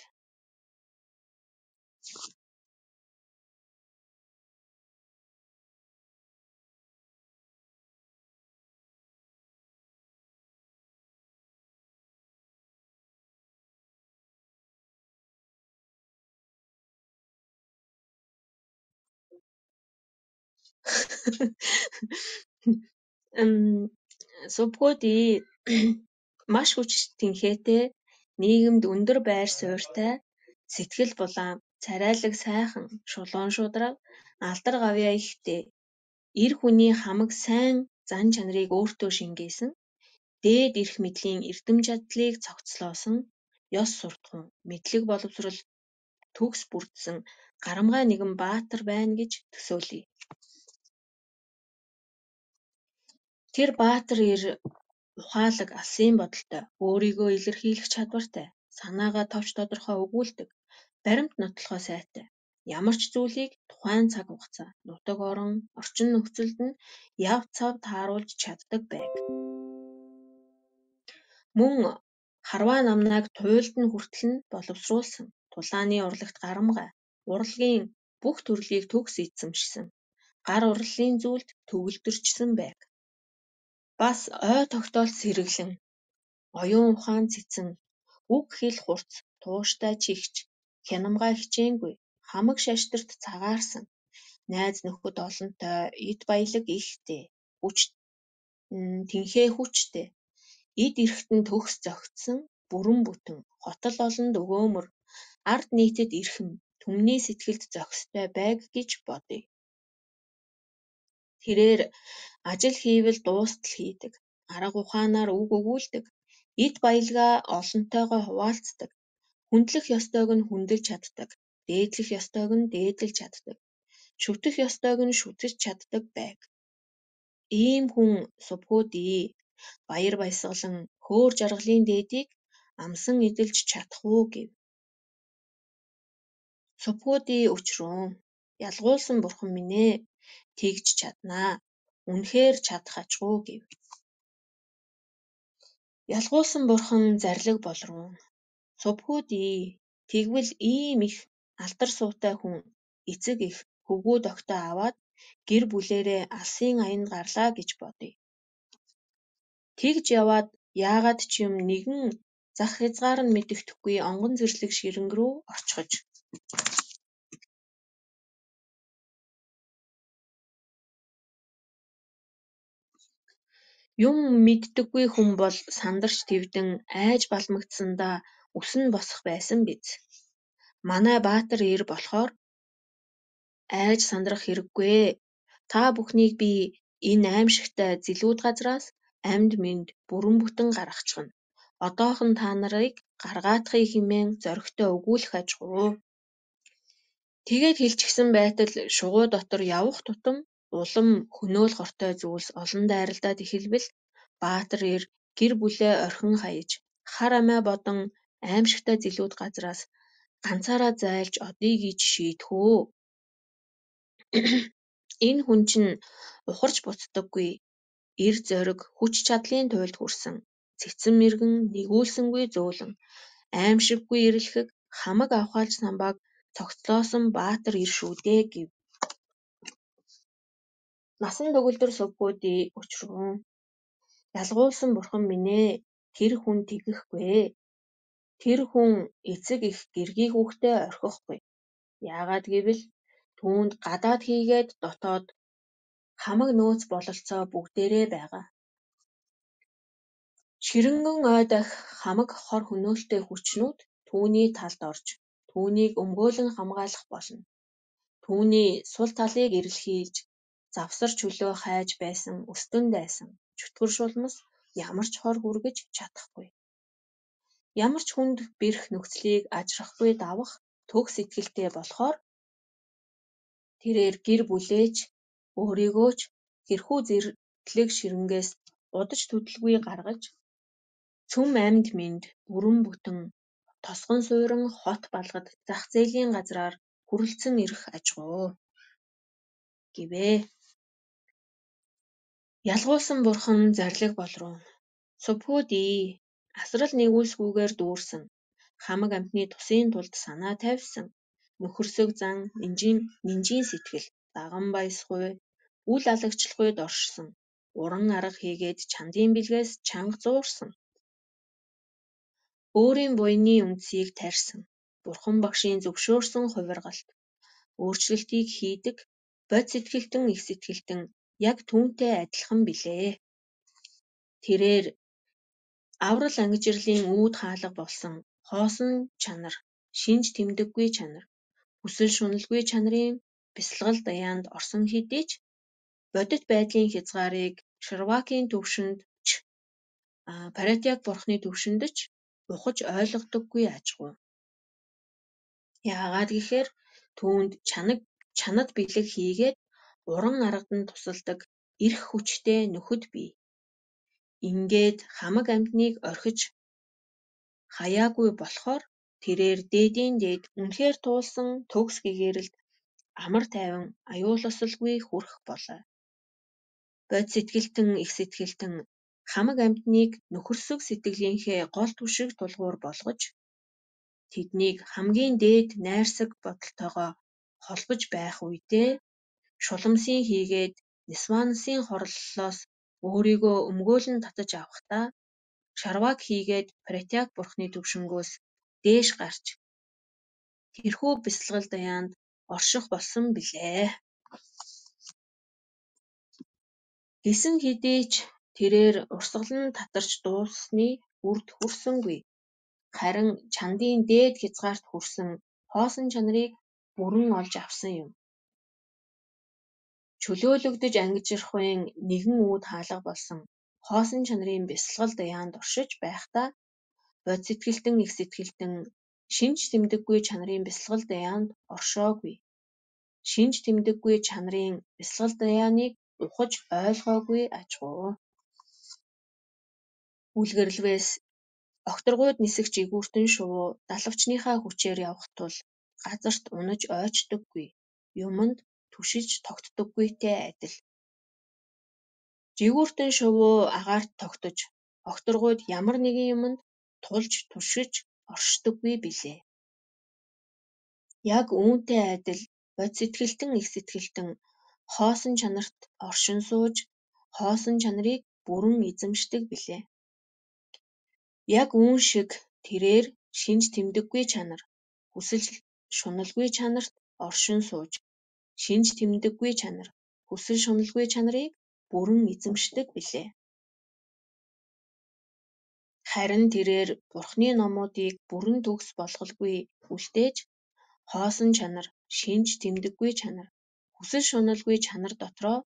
Сувгуудий маш хүч тэнхээтэй нийгэмд өндөр байр суурьтай сэтгэл булаан царайлаг сайхан шулуун шударга алдар гавьяа ихтэй эр хүний хамаг сайн зан чанарыг өөртөө шингээсэн дээд эрх мэдлийн эрдэм чадлыг цогцлоосон ёс суртахуун мэдлэг боловсрол төгс бүрдсэн гарамгай нэгэн баатар байна гэж төсөөлье. Тэр баатар эр ухаалаг алсын бодолтой, өөрийгөө илэрхийлэх чадвартай, санаагаа товч тодорхой өгүүлдэг, баримт нотлохоо сайтай. Ямар ч зүйлийг тухайн цаг хугацаа, нутаг орон, орчин нөхцөлд нь яв цав тааруулж чаддаг байг. Мөн харваа намнайг туйлд нь хүртэл нь боловсруулсан, тулааны урлагт гарамгай, урлагийн бүх төрлийг төгс эзэмшсэн, гар урлалын зүйлд төгөлдөрчсөн байг. Бас ой тогтоолт сэргэлэн, оюун ухаан цэцэн, үг хэл хурц, тууштай чихч, хянамгай хичээнгүй, хамаг шашторт цагаарсан, найз нөхөд олонтой, эд баялаг ихтэй, тэнхээ хүчтэй, эд эрэхтэн төгс зохицсон, бүрэн бүтэн, хотол олонд өгөөмөр, ард нийтэд эрхэм, түмний сэтгэлд зохистой байг гэж бодъё. Тэрээр ажил хийвэл дуустал хийдэг, арга ухаанаар үг өгүүлдэг, эд баялгаа олонтойгоо хуваалцдаг, хүндлэх ёстойг нь хүндэлж чаддаг, дээдлэх ёстойг нь дээдлэж чаддаг, шүтэх ёстойг нь шүтэж чаддаг байг. Ийм хүн субхүүдий баяр баясгалан хөөр жаргалын дээдийг амсан эдэлж чадах уу гэв. Субхүүдий өчрүүн, ялгуулсан бурхан минь ээ, тэгж чаднаа. Үнэхээр чадах ачгүй гэв. Ялгуулсан бурхан зарлиг болруу. Субхүүдий, тэгвэл ийм их алдар суутай хүн эцэг их хөвгүүд огтоо аваад гэр бүлээрээ алсын аянд гарлаа гэж бодъё. Тэгж яваад яагаад ч юм нэгэн зах хязгаар нь мэдэгдэхгүй онгон зэрлэг ширэнг рүү очихож. Юм мэддэггүй хүн бол сандарч твдэн айж балмагдсандаа үсэн босох байсан биз. Манай Баатар эр болохоор айж сандрах хэрэггүй. Та бүхнийг би энэ аимшигтай зэлүүд газраас амьд мэнд бүрэн бүтэн гаргачихна. Одоохон та нарыг гаргаатахыг хэмээн зоригтой өгүүлэх ажгүй. Тэгээд хэлчихсэн байтал шугуй дотор явах тутам улам хөнөөл хортой зүйлс олон дайралдаад эхэлбэл Баатар эр гэр бүлээ орхин хаяж хар амиа бодон аимшигтай зэлүүд газраас ганцаараа зайлж одъё гэж шийдэхүү. Энэ хүн чинь ухарч буцдаггүй, эр зориг хүч чадлын туйлд хүрсэн, цэцэн мэргэн нэгүүлсэнгүй зөөлөн, аимшиггүй ирэлхэг хамаг авхаалж самбааг цогцлоосон Баатар эр шүү дээ гэв. Насан төгөлдөр субхүүдий өчрүүн. Ялгуулсан бурхан минь ээ, тэр хүн тэгэхгүй. Тэр хүн эцэг их гэргий хүүхдээ орхихгүй. Яагаад гэвэл түүнд гадаад хийгээд дотоод хамаг нөөц бололцоо бүгдээрээ байгаа. Ширэнгэн ой дахь хамаг хор хөнөөлтэй хүчнүүд түүний талд орж, түүнийг өмгөөлөн хамгаалах болно. Түүний сул талыг эрэлхийлж, завсар чөлөө хайж байсан өстөн дайсан, чөтгөр шулмас ямар ч хор хүргэж чадахгүй. Ямар ч хүнд бэрх нөхцөлийг ажрахгүй давах төгс итгэлтэй болохоор тэрээр гэр бүлээч, өөрийгөө ч хэрхүү зэрлэг ширэнгээс удаж төдөлгүй гаргаж, цөм амьд мэнд бүрэн бүтэн тосгон суурин хот балгад зах зээлийн газраар хүрэлцэн ирэх ажгүй гэвээ. Ялгуулсан бурхан зарлиг болруу. Субхүүдий, асрал нэгүүлсгүйгээр дүүрсэн, хамаг амьтны тусын тулд санаа тавьсан, нөхөрсөг зан, нинжийн сэтгэл, даган баясгүй, үл алагчлахуйд оршсон, уран арга хийгээд чандын бэлгээс чанга зуурсан. Өөрийн буйны үндсийг тарьсан, бурхан багшийн зөвшөөрсөн хувиргалт, өөрчлөлтийг хийдэг, бод сэтгэлтэн их сэтгэлтэн яг түүнтэй адилхан билээ. Тэрээр аврал ангижирлын үүд хаалга болсон хоосон чанар, шинж тэмдэггүй чанар, хүсэл шуналгүй чанарын бясалгал даяанд орсон хэдий ч бодит байдлын хязгаарыг Ширвакийн төвшөнд ч Паратяг бурхны төвшөнд ч ухаж ойлгодоггүй ажгүй. Яагаад гэхээр түүнд чанад бэлэг хийгээд уран аргад тусалдаг эрх хүчтэй нөхөд бий. Ингээд хамаг амьтныг орхиж хаяагүй болохоор тэрээр дээдийн дээд үнэхээр туулсан төгс гэгээрэлд амар тайван аюулосолгүй хүрэх болоо. Бод сэтгэлтэн их сэтгэлтэн хамаг амьтныг нөхөрсөг сэтгэлийнхээ гол түшиг тулгуур болгож тэднийг хамгийн дээд найрсаг бодолтойгоо холбож байх үедээ шуламсын хийгээд Нисванасын хорлолоос өөрийгөө өмгөөлөн татаж авахдаа Шарваг хийгээд Претяг бурхны төвшнгөөс дээш гарч тэрхүү бясалгал даяанд орших болсон билээ. Гэсэн хэдий ч тэрээр урсгалан татарч дууссаны үрд хүрсэнгүй. Харин чандын дээд хязгаарт хүрсэн хоосон чанарыг бүрэн олж авсан юм. Чөлөөлөгдөж ангижрахын нэгэн үүд хаалга болсон хоосон чанарын бясалгал даяанд оршиж байхдаа бод сэтгэлтэн их сэтгэлтэн шинж тэмдэггүй чанарын бясалгал даяанд оршоогүй. Шинж тэмдэггүй чанарын бясалгал даяаныг ухаж ойлгоогүй ажгүй. Үлгэрлвээс огторгуйд нисэх жигүүртэн шувуу далавчныхаа хүчээр явах тул газарт унаж ойчдоггүй, юманд түшиж тогтдоггүйтэй адил. Жигүүртэн шувуу агаарт тогтож, огторгуйд ямар нэгэн юманд тулж түшиж оршдоггүй билээ. Яг үүнтэй адил бод сэтгэлтэн их сэтгэлтэн хоосон чанарт оршин сууж, хоосон чанарыг бүрэн эзэмшдэг билээ. Яг үүн шиг тэрээр шинж тэмдэггүй чанар, хүсэл шуналгүй чанарт оршин сууж, шинж тэмдэггүй чанар, хүсэл шуналгүй чанарыг бүрэн эзэмшдэг билээ. Харин тэрээр Бурхны номуудыг бүрэн төгс болголгүй үлдээж, хоосон чанар, шинж тэмдэггүй чанар, хүсэл шуналгүй чанар дотроо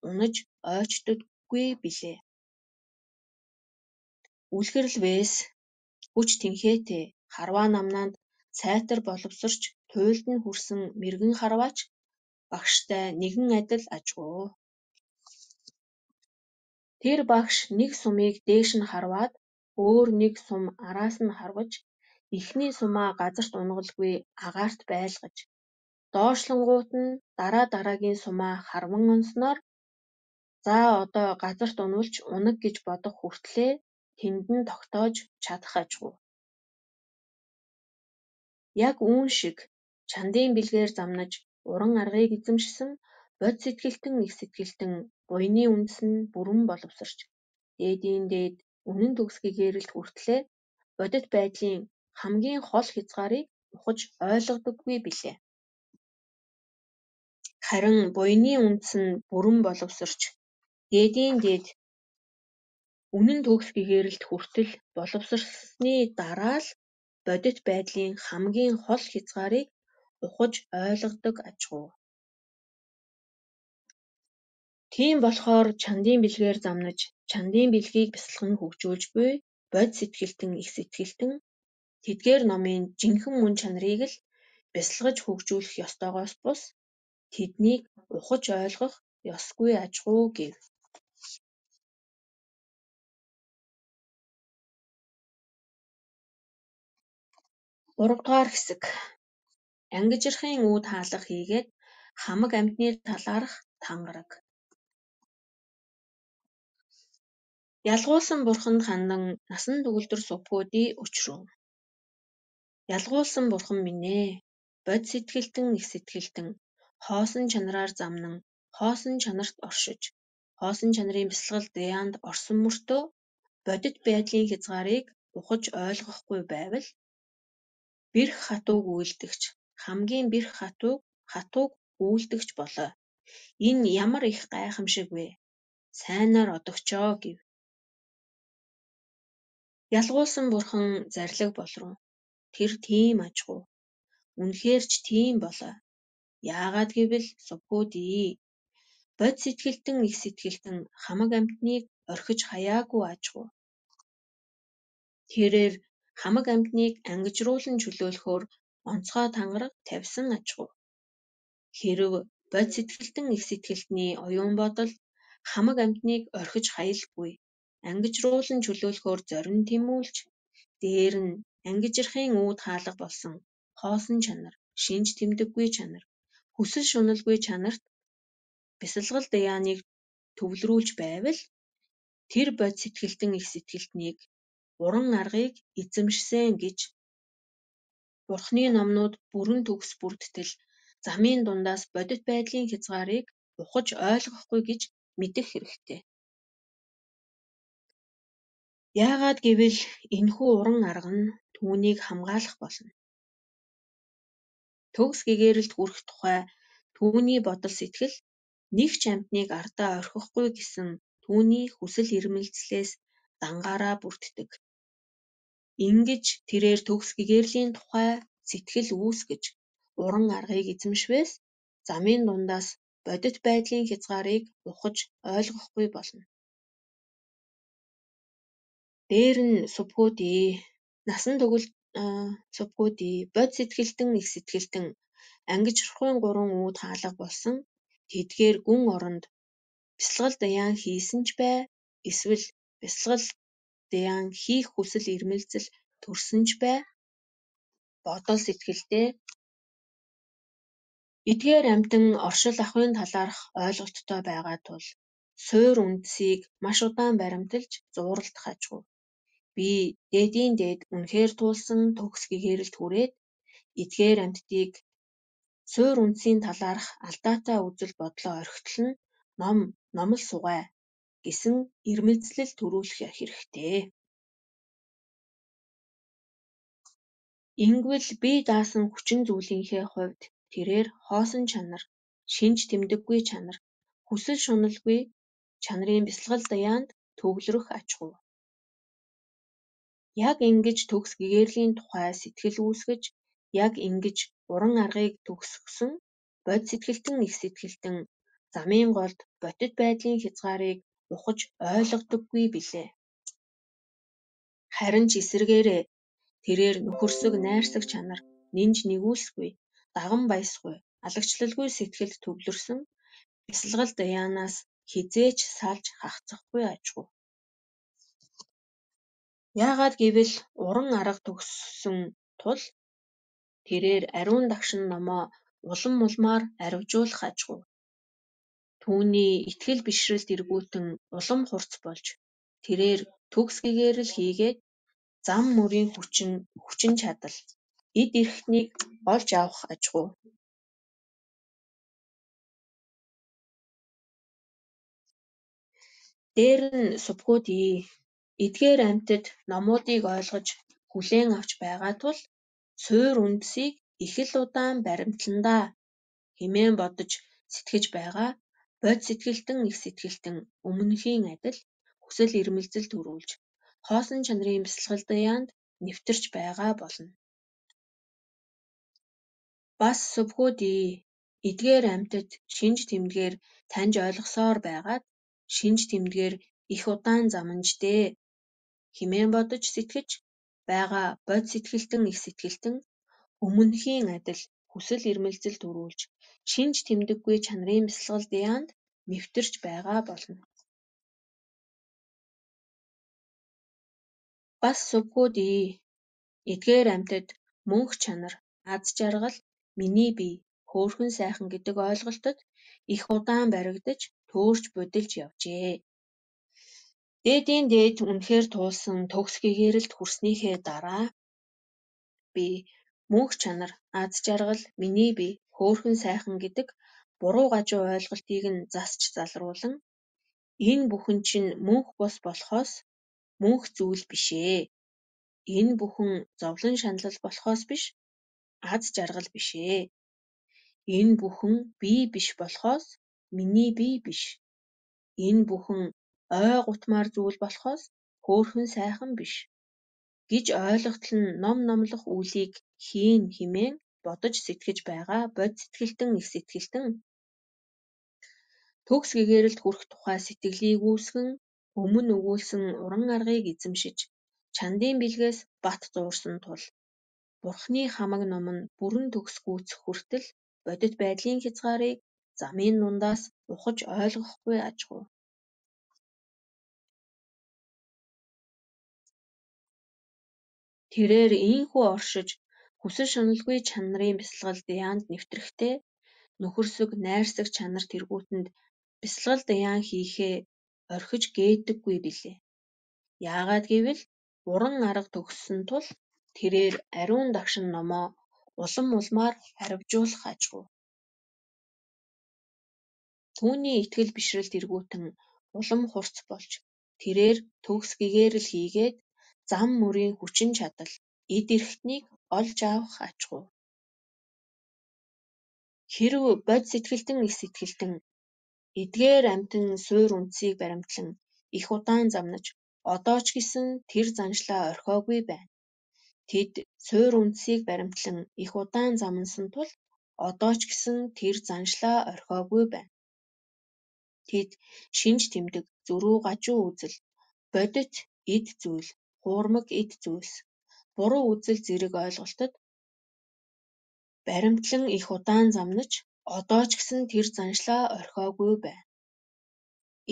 унаж ойчдоггүй билээ. Үлгэрлвээс хүч тэнхээтэй харваа намнаанд сайтар боловсрч туйлд нь хүрсэн мэргэн харваач багштай нэгэн адил ажгүй. Тэр багш нэг сумыг дээш нь харваад өөр нэг сум араас нь харваж эхний сумаа газарт унгалгүй агаарт байлгаж доошлонгууд нь дараагийн сумаа харван онсноор за одоо газарт унвалж унаг гэж бодох хүртлээр тэнд нь тогтоож чадах ажгүй. Яг үүн шиг чандын бэлгээр замнаж уран аргыг эзэмшсэн бод сэтгэлтэн их сэтгэлтэн буйны үндэс нь бүрэн боловсрч дээдийн дээд үнэн төгсгийг гээрэлт хүртлээр бодит байдлын хамгийн хол хязгаарыг ухаж ойлгодоггүй билээ. Харин буйны үндэс нь бүрэн боловсрч дээдийн дээд үнэн төгсгийг гээрэлт хүртэл боловсрсны дараа л бодит байдлын хамгийн хол хязгаарыг ухаж ойлгодог ажгүй. Тийм болохоор чандын бэлгээр замнаж, чандын бэлгийг бясалган хөгжүүлж буй бод сэтгэлтэн их сэтгэлтэн тэдгээр номын жинхэнэ мөн чанарыг л бясалгаж хөгжүүлэх ёстойгоос бус тэднийг ухаж ойлгох ёсгүй ажгүй гэв. 3-р хэсэг. Ангижрахын үүд хаалга хийгээд хамаг амьтны талаарх тангараг. Ялгуулсан бурханд хандан насан төгөлдөр сувгуудын өчрөв. Ялгуулсан бурхан минь ээ, бод сэтгэлтэн их сэтгэлтэн хоосон чанараар замнан хоосон чанарт оршиж, хоосон чанарын бясалгал даяанд орсон мөртөө бодит байдлын хязгаарыг ухаж ойлгохгүй байвал бэрх хатууг үйлдэгч, хамгийн бэрх хатууг үйлдэгч болоо. Энэ ямар их гайхамшиг вэ? Сайнаар одогчоо гэв. Ялгуулсан бурхан зарлиг болров. Тэр тийм ажгүй. Үнэхээр ч тийм болоо. Яагаад гэвэл сувгуудий. Бод сэтгэлтэн их сэтгэлтэн хамаг амьтныг орхиж хаяагүй ажгүй. Тэрээр хамаг амьтныг ангижруулан чөлөөлөхөөр онцгой тангараг тавьсан ажгүй. Хэрэв бод сэтгэлтэн их сэтгэлтний оюун бодол хамаг амьтныг орхиж хаялгүй, ангижруулан чөлөөлөхөөр зорин тэмүүлж, дээр нь ангижрахын үүд хаалга болсон хоосон чанар, шинж тэмдэггүй чанар, хүсэл шуналгүй чанарт бясалгал даяаныг төвлөрүүлж байвал тэр бод сэтгэлтэн их сэтгэлтнийг уран аргыг эзэмшсэн гэж Бурхны номнууд бүрэн төгс бүрдтэл замын дундаас бодит байдлын хязгаарыг ухаж ойлгохгүй гэж мэдэх хэрэгтэй. Яагаад гэвэл энэхүү уран арга нь түүнийг хамгаалах болно. Төгс гэгээрэлд хүрэх тухай түүний бодол сэтгэл нэг ч амьтныг ардаа орхихгүй гэсэн түүний хүсэл эрмэлзлээс дангаараа бүрддэг. Ингэж тэрээр төгс гэгэрлийн тухай сэтгэл үүсгэж уран аргыг эзэмшвээс замын дундаас бодит байдлын хязгаарыг ухаж ойлгохгүй болно. Дээр нь субхүүдий насан турш субхүүдий бод сэтгэлтэн их сэтгэлтэн ангиж орохын 3 үүд хаалга болсон тэдгээр гүн оронд бясалгал даяан хийсэн ч бай эсвэл бясалгал даяан хийх хүсэл эрмэлзэл төрсөн ч бай бодол сэтгэлдээ эдгээр амьтан оршил ахуйн талаарх ойлголттой байгаа тул суур үндсийг маш удаан баримталж зууралдах ажгүй. Би дээдийн дээд үнэхээр туулсан төгс гэгээрэлд хүрээд эдгээр амьтдыг суур үндсийн талаарх алдаатай үзэл бодлоо орхитол нь номл сугай гэсэн эрмэлзлэл төрүүлэх хэрэгтэй. Ингэвэл бие даасан хүчин зүйлийнхээ хувьд тэрээр хоосон чанар, шинж тэмдэггүй чанар, хүсэл шуналгүй чанарын бясалгал даяанд төвлөрөх ачгүй. Яг ингэж төгс гэгэрлийн тухай сэтгэл үүсгэж, яг ингэж уран аргыг төгсгсөн бод сэтгэлтэн их сэтгэлтэн замын голд бодит байдлын хязгаарыг ухаж ойлгодоггүй билээ. Харин ч эсэргээрээ тэрээр нөхөрсөг найрсаг чанар, нинж нэгүүлсгүй, даган баясгүй, алагчлалгүй сэтгэлд төвлөрсөн бясалгал даяанаас хизээч салж хагацхгүй ажгүй. Яагаад гэвэл уран арга төгссөн тул тэрээр ариун дагшин номоо улам улмаар аривжуулах ажгүй. Түүний итгэл бишрэлд эргүүлтэн улам хурц болж тэрээр төгс гэгэрэл хийгээд зам мөрийн хүчин чадал эд эрхтнийг олж авах ажгүй. Дээр нь субхүүдий эдгээр амьтад номуудыг ойлгож хүлээн авч байгаа тул суур үндсийг их л удаан баримтландаа хэмээн бодож сэтгэж байгаа бод сэтгэлтэн их сэтгэлтэн өмнөхийн адил хүсэл эрмэлзэл төрүүлж хоосон чанарын бясалгал даяанд нэвтэрч байгаа болно. Бас субхүүдий эдгээр амьтад шинж тэмдгээр таньж ойлгосоор байгаад шинж тэмдгээр их удаан замнаждээ хэмээн бодож сэтгэж байгаа бод сэтгэлтэн их сэтгэлтэн өмнөхийн адил хүсэл эрмэлзэл төрүүлж шинж тэмдэггүй чанарын бясалгал даяанд нэвтэрч байгаа болно. Бас субхүүдий эдгээр амьтад мөнх чанар, аз жаргал, миний бие, хөөрхөн сайхан гэдэг ойлголтод их удаан баригдаж төөрч будилж явжээ. Дээдийн дээд үнэхээр туулсан төгс гэгэрэлд хүрснийхээ дараа би мөнх чанар, аз жаргал, миний бие, хөөрхөн сайхан гэдэг буруу гажуу ойлголтыг нь засч залруулан энэ бүхэн чинь мөнх бус болохоос мөнх зүйл бишээ. Энэ бүхэн зовлон шаналл болохоос биш, аз жаргал бишээ. Энэ бүхэн бие биш болохоос миний бие биш. Энэ бүхэн ой гутмаар зүйл болохоос хөөрхөн сайхан биш гэж ойлгохтол нь ном номлох үйлийг хийн хэмээн бодож сэтгэж байгаа бод сэтгэлтэн их сэтгэлтэн төгс гэгэрэлд хүрэх тухай сэтгэлийг үүсгэн өмнө өгүүлсэн уран аргыг эзэмшиж чандын бэлгээс бат зуурсан тул Бурхны хамаг ном нь бүрэн төгс гүйцэх хүртэл бодит байдлын хязгаарыг замын дундаас ухаж ойлгохгүй ажгүй. Тэрээр ийхүү оршиж хүсэл шаналгүй чанарын бясалгал даяанд нэвтрэхдээ нөхөрсөг найрсаг чанар тэргүүтэнд бясалгал даяан хийхээ орхиж гээддэггүй билээ. Яагаад гэвэл уран арга төгссөн тул тэрээр ариун дагшин номоо улам улмаар аривжуулах ажгүй. Түүний итгэл бишрэлт эргүүтэн улам хурц болж тэрээр төгс гэгээрэл хийгээд зам мөрийн хүчин чадал эд эрхтнийг олж авах ачгүй. Хэрв бод сэтгэлдэн их сэтгэлдэн эдгээр амьтан суур үндсийг баримтлан их удаан замнаж одоо ч гэсэн тэр заншлаа орхиогүй байна. Тэд суур үндсийг баримтлан их удаан замнасан тул одоо ч гэсэн тэр заншлаа орхиогүй байна. Тэд шинж тэмдэг, зөрүү гажуу үзэл, бодит эд зүйл, хуурмаг эд зүйлс, буруу үзэл зэрэг ойлголтод баримтлан их удаан замнаж одоо ч гэсэн тэр заншлаа орхиогүй байна.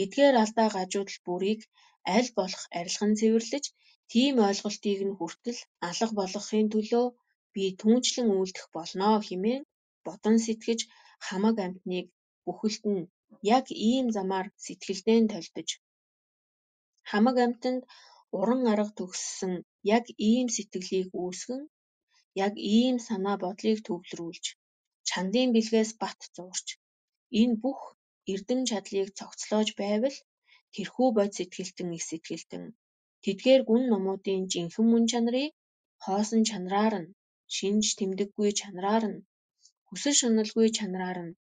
Эдгээр алдаа гажуудал бүрийг аль болох арилхан цэвэрлэж, тийм ойлголтыг нь хүртэл алга болгохын төлөө би түүнчлэн үйлдэх болно хэмээн бодон сэтгэж хамаг амьтныг бүхэлд нь яг ийм замаар сэтгэлдээ тольдож, хамаг амьтанд уран арга төгссөн яг ийм сэтгэлийг үүсгэн, яг ийм санаа бодлыг төвлөрүүлж, чандын бэлгээс бат зуурч, энэ бүх эрдэм чадлыг цогцлоож байвал тэрхүү бод сэтгэлтэн их сэтгэлтэн тэдгээр гүн номуудын жинхэнэ мөн чанарыг хоосон чанараар нь, шинж тэмдэггүй чанараар нь, хүсэл шуналгүй чанараар нь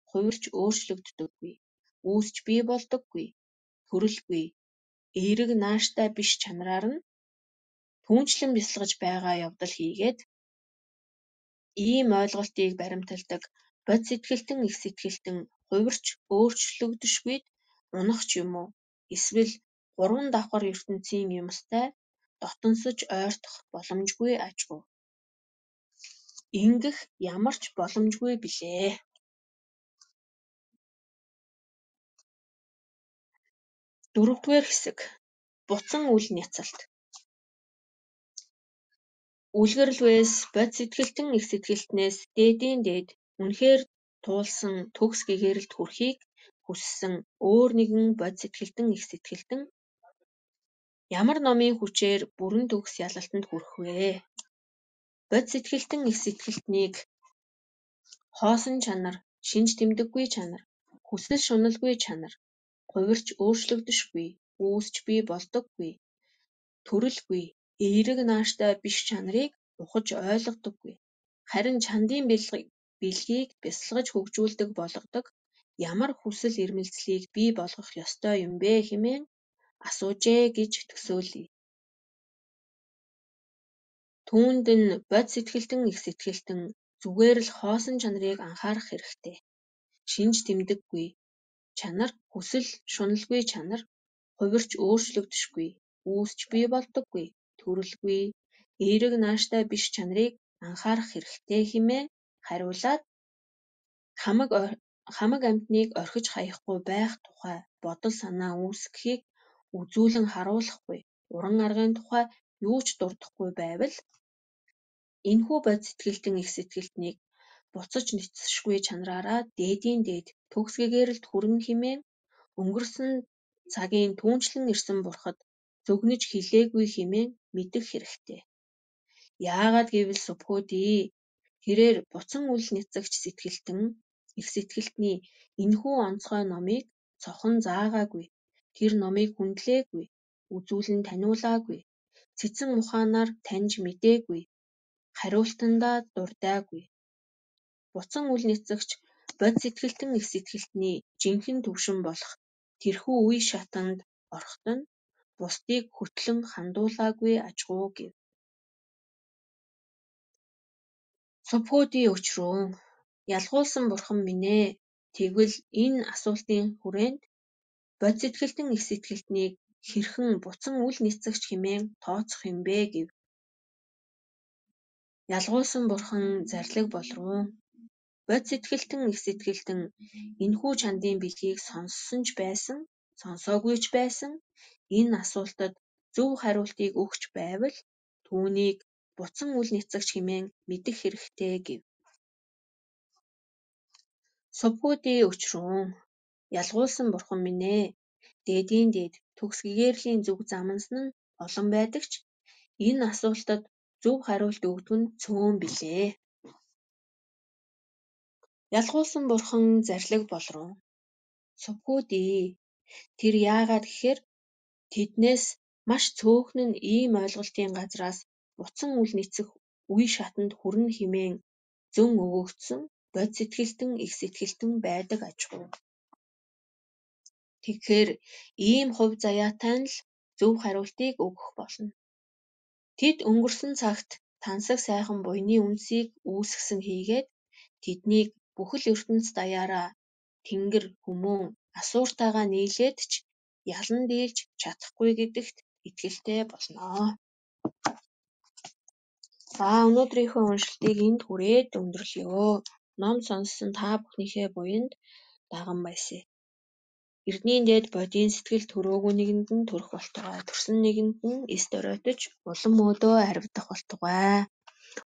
хувирч өөрчлөгддөггүй, үүсч бий болдоггүй, төрөлгүй, эерэг нааштай биш чанараар нь түүнчлэн бясалгаж байгаа явдал хийгээд ийм ойлголтыг баримталдаг бод сэтгэлтэн их сэтгэлтэн хувирч өөрчлөгдөшгүйд унах ч юм уу эсвэл гурван давхар ертөнцийн юмстай дотонсож ойртох боломжгүй ажгүй. Ингэх ямар ч боломжгүй билээ. Дөрөвдүгээр хэсэг. Буцан үл няцалт. Үлгэрлвээс бод сэтгэлтэн их сэтгэлтнээс дээдийн дээд үнэхээр туулсан төгс гэгээрэлд хүрэхийг хүссэн өөр нэгэн бод сэтгэлтэн их сэтгэлтэн ямар номын хүчээр бүрэн төгс ялалтанд хүрэх вэ? Бод сэтгэлтэн их сэтгэлтнийг хоосон чанар, шинж тэмдэггүй чанар, хүсэл шуналгүй чанар, хувирч өөрчлөгдөшгүй, үүсч бий болдоггүй, төрөлгүй, эерэг нааштай биш чанарыг ухаж ойлгодоггүй. Харин чандын бэлгийг бясалгаж хөгжүүлдэг болгодог ямар хүсэл эрмэлзлийг бий болгох ёстой юм бэ хэмээн асуужээ гэж төсөөлье. Түүнд нь бод сэтгэлтэн их сэтгэлтэн зүгээр л хоосон чанарыг анхаарах хэрэгтэй. Шинж тэмдэггүй чанар, хүсэл шуналгүй чанар, хувирч өөрчлөгдөшгүй, үүсч бий болдоггүй, төрөлгүй, эерэг нааштай биш чанарыг анхаарах хэрэгтэй хэмээн хариулаад хамаг амьтныг орхиж хаяхгүй байх тухай бодол санаа үүсгэхийг үзүүлэн харуулахгүй, уран аргын тухай юу ч дурдахгүй байвал энэхүү бод сэтгэлтэн их сэтгэлтнийг буцаж нүцшгүй чанараараа дээдийн дээд төгс гэгээрэлд хүрнэ хэмээн өнгөрсөн цагийн түүнчлэн ирсэн бурхад зөгнөж хэлээгүй хэмээн мэдэх хэрэгтэй. Яагаад гэвэл субхүүдий тэрээр буцан үл няцагч сэтгэлтэн их сэтгэлтний энэхүү онцгой номыг цохон заагаагүй, тэр номыг хүндлээгүй, үзүүлэн таниулаагүй, цэцэн ухаанаар таньж мэдээгүй, хариултандаа дурдаагүй. Буцан үл няцагч бод сэтгэлтэн их сэтгэлтний жинхэнэ төвшин болох тэрхүү үе шатанд ороход нь бусдыг хөтлөн хандуулаагүй ажгүй гэв. Субхүүдий өчрүүн ялгуулсан бурхан минь ээ, тэгвэл энэ асуултын хүрээнд бод сэтгэлтэн их сэтгэлтнийг хэрхэн буцан үл няцагч хэмээн тооцох юм бэ гэв. Ялгуулсан бурхан зарлиг болруу. Бод сэтгэлтэн их сэтгэлтэн энэхүү чандын бэлгийг сонссон ч байсан, сонсоогүй ч байсан энэ асуултад зөв хариултыг өгч байвал түүнийг буцан үл няцагч хэмээн мэдэх хэрэгтэй гэв. Субхүүдий өчрүүн ялгуулсан бурхан минь ээ, дээдийн дээд төгс гэгээрлийн зүг замнасан нь олон байдаг ч энэ асуултад зөв хариулт өгдөг нь цөөн билээ. Ялгуулсан бурхан зарлиг болруу. сувхүүдээ. Тэр яагаад гэхээр тэднээс маш цөөхөн нь ийм ойлголтын газраас буцан үл нийцэх үе шатанд хүрнэ хэмээн зөн өгөгдсөн бод сэтгэлтэн их сэтгэлтэн байдаг аж ахуй. Тэгэхээр ийм хувь заяатай нь л зөв хариултыг өгөх болно. Тэд өнгөрсөн цагт тансаг сайхан буйны үнсийг үүсгэсэн хийгээд тэднийг бүхэл ертөнц даяараа тэнгэр хүмүүн асууртайгаа нийлээд ч ялан дийлж чадахгүй гэдэгт итгэлтэй болно. За өнөөдрийнхөө уншилтыг энд хүрээд өндөрлөё. Ном сонссон та бүхнийхээ буянд даган баясаа. Эрдэнийн дээд бодийн сэтгэл төрөөгүй нэгэнд нь төрөх болтугай. Төрсөн нэгэнд нь эс доройтож улам өөдөө харигдах болтугай.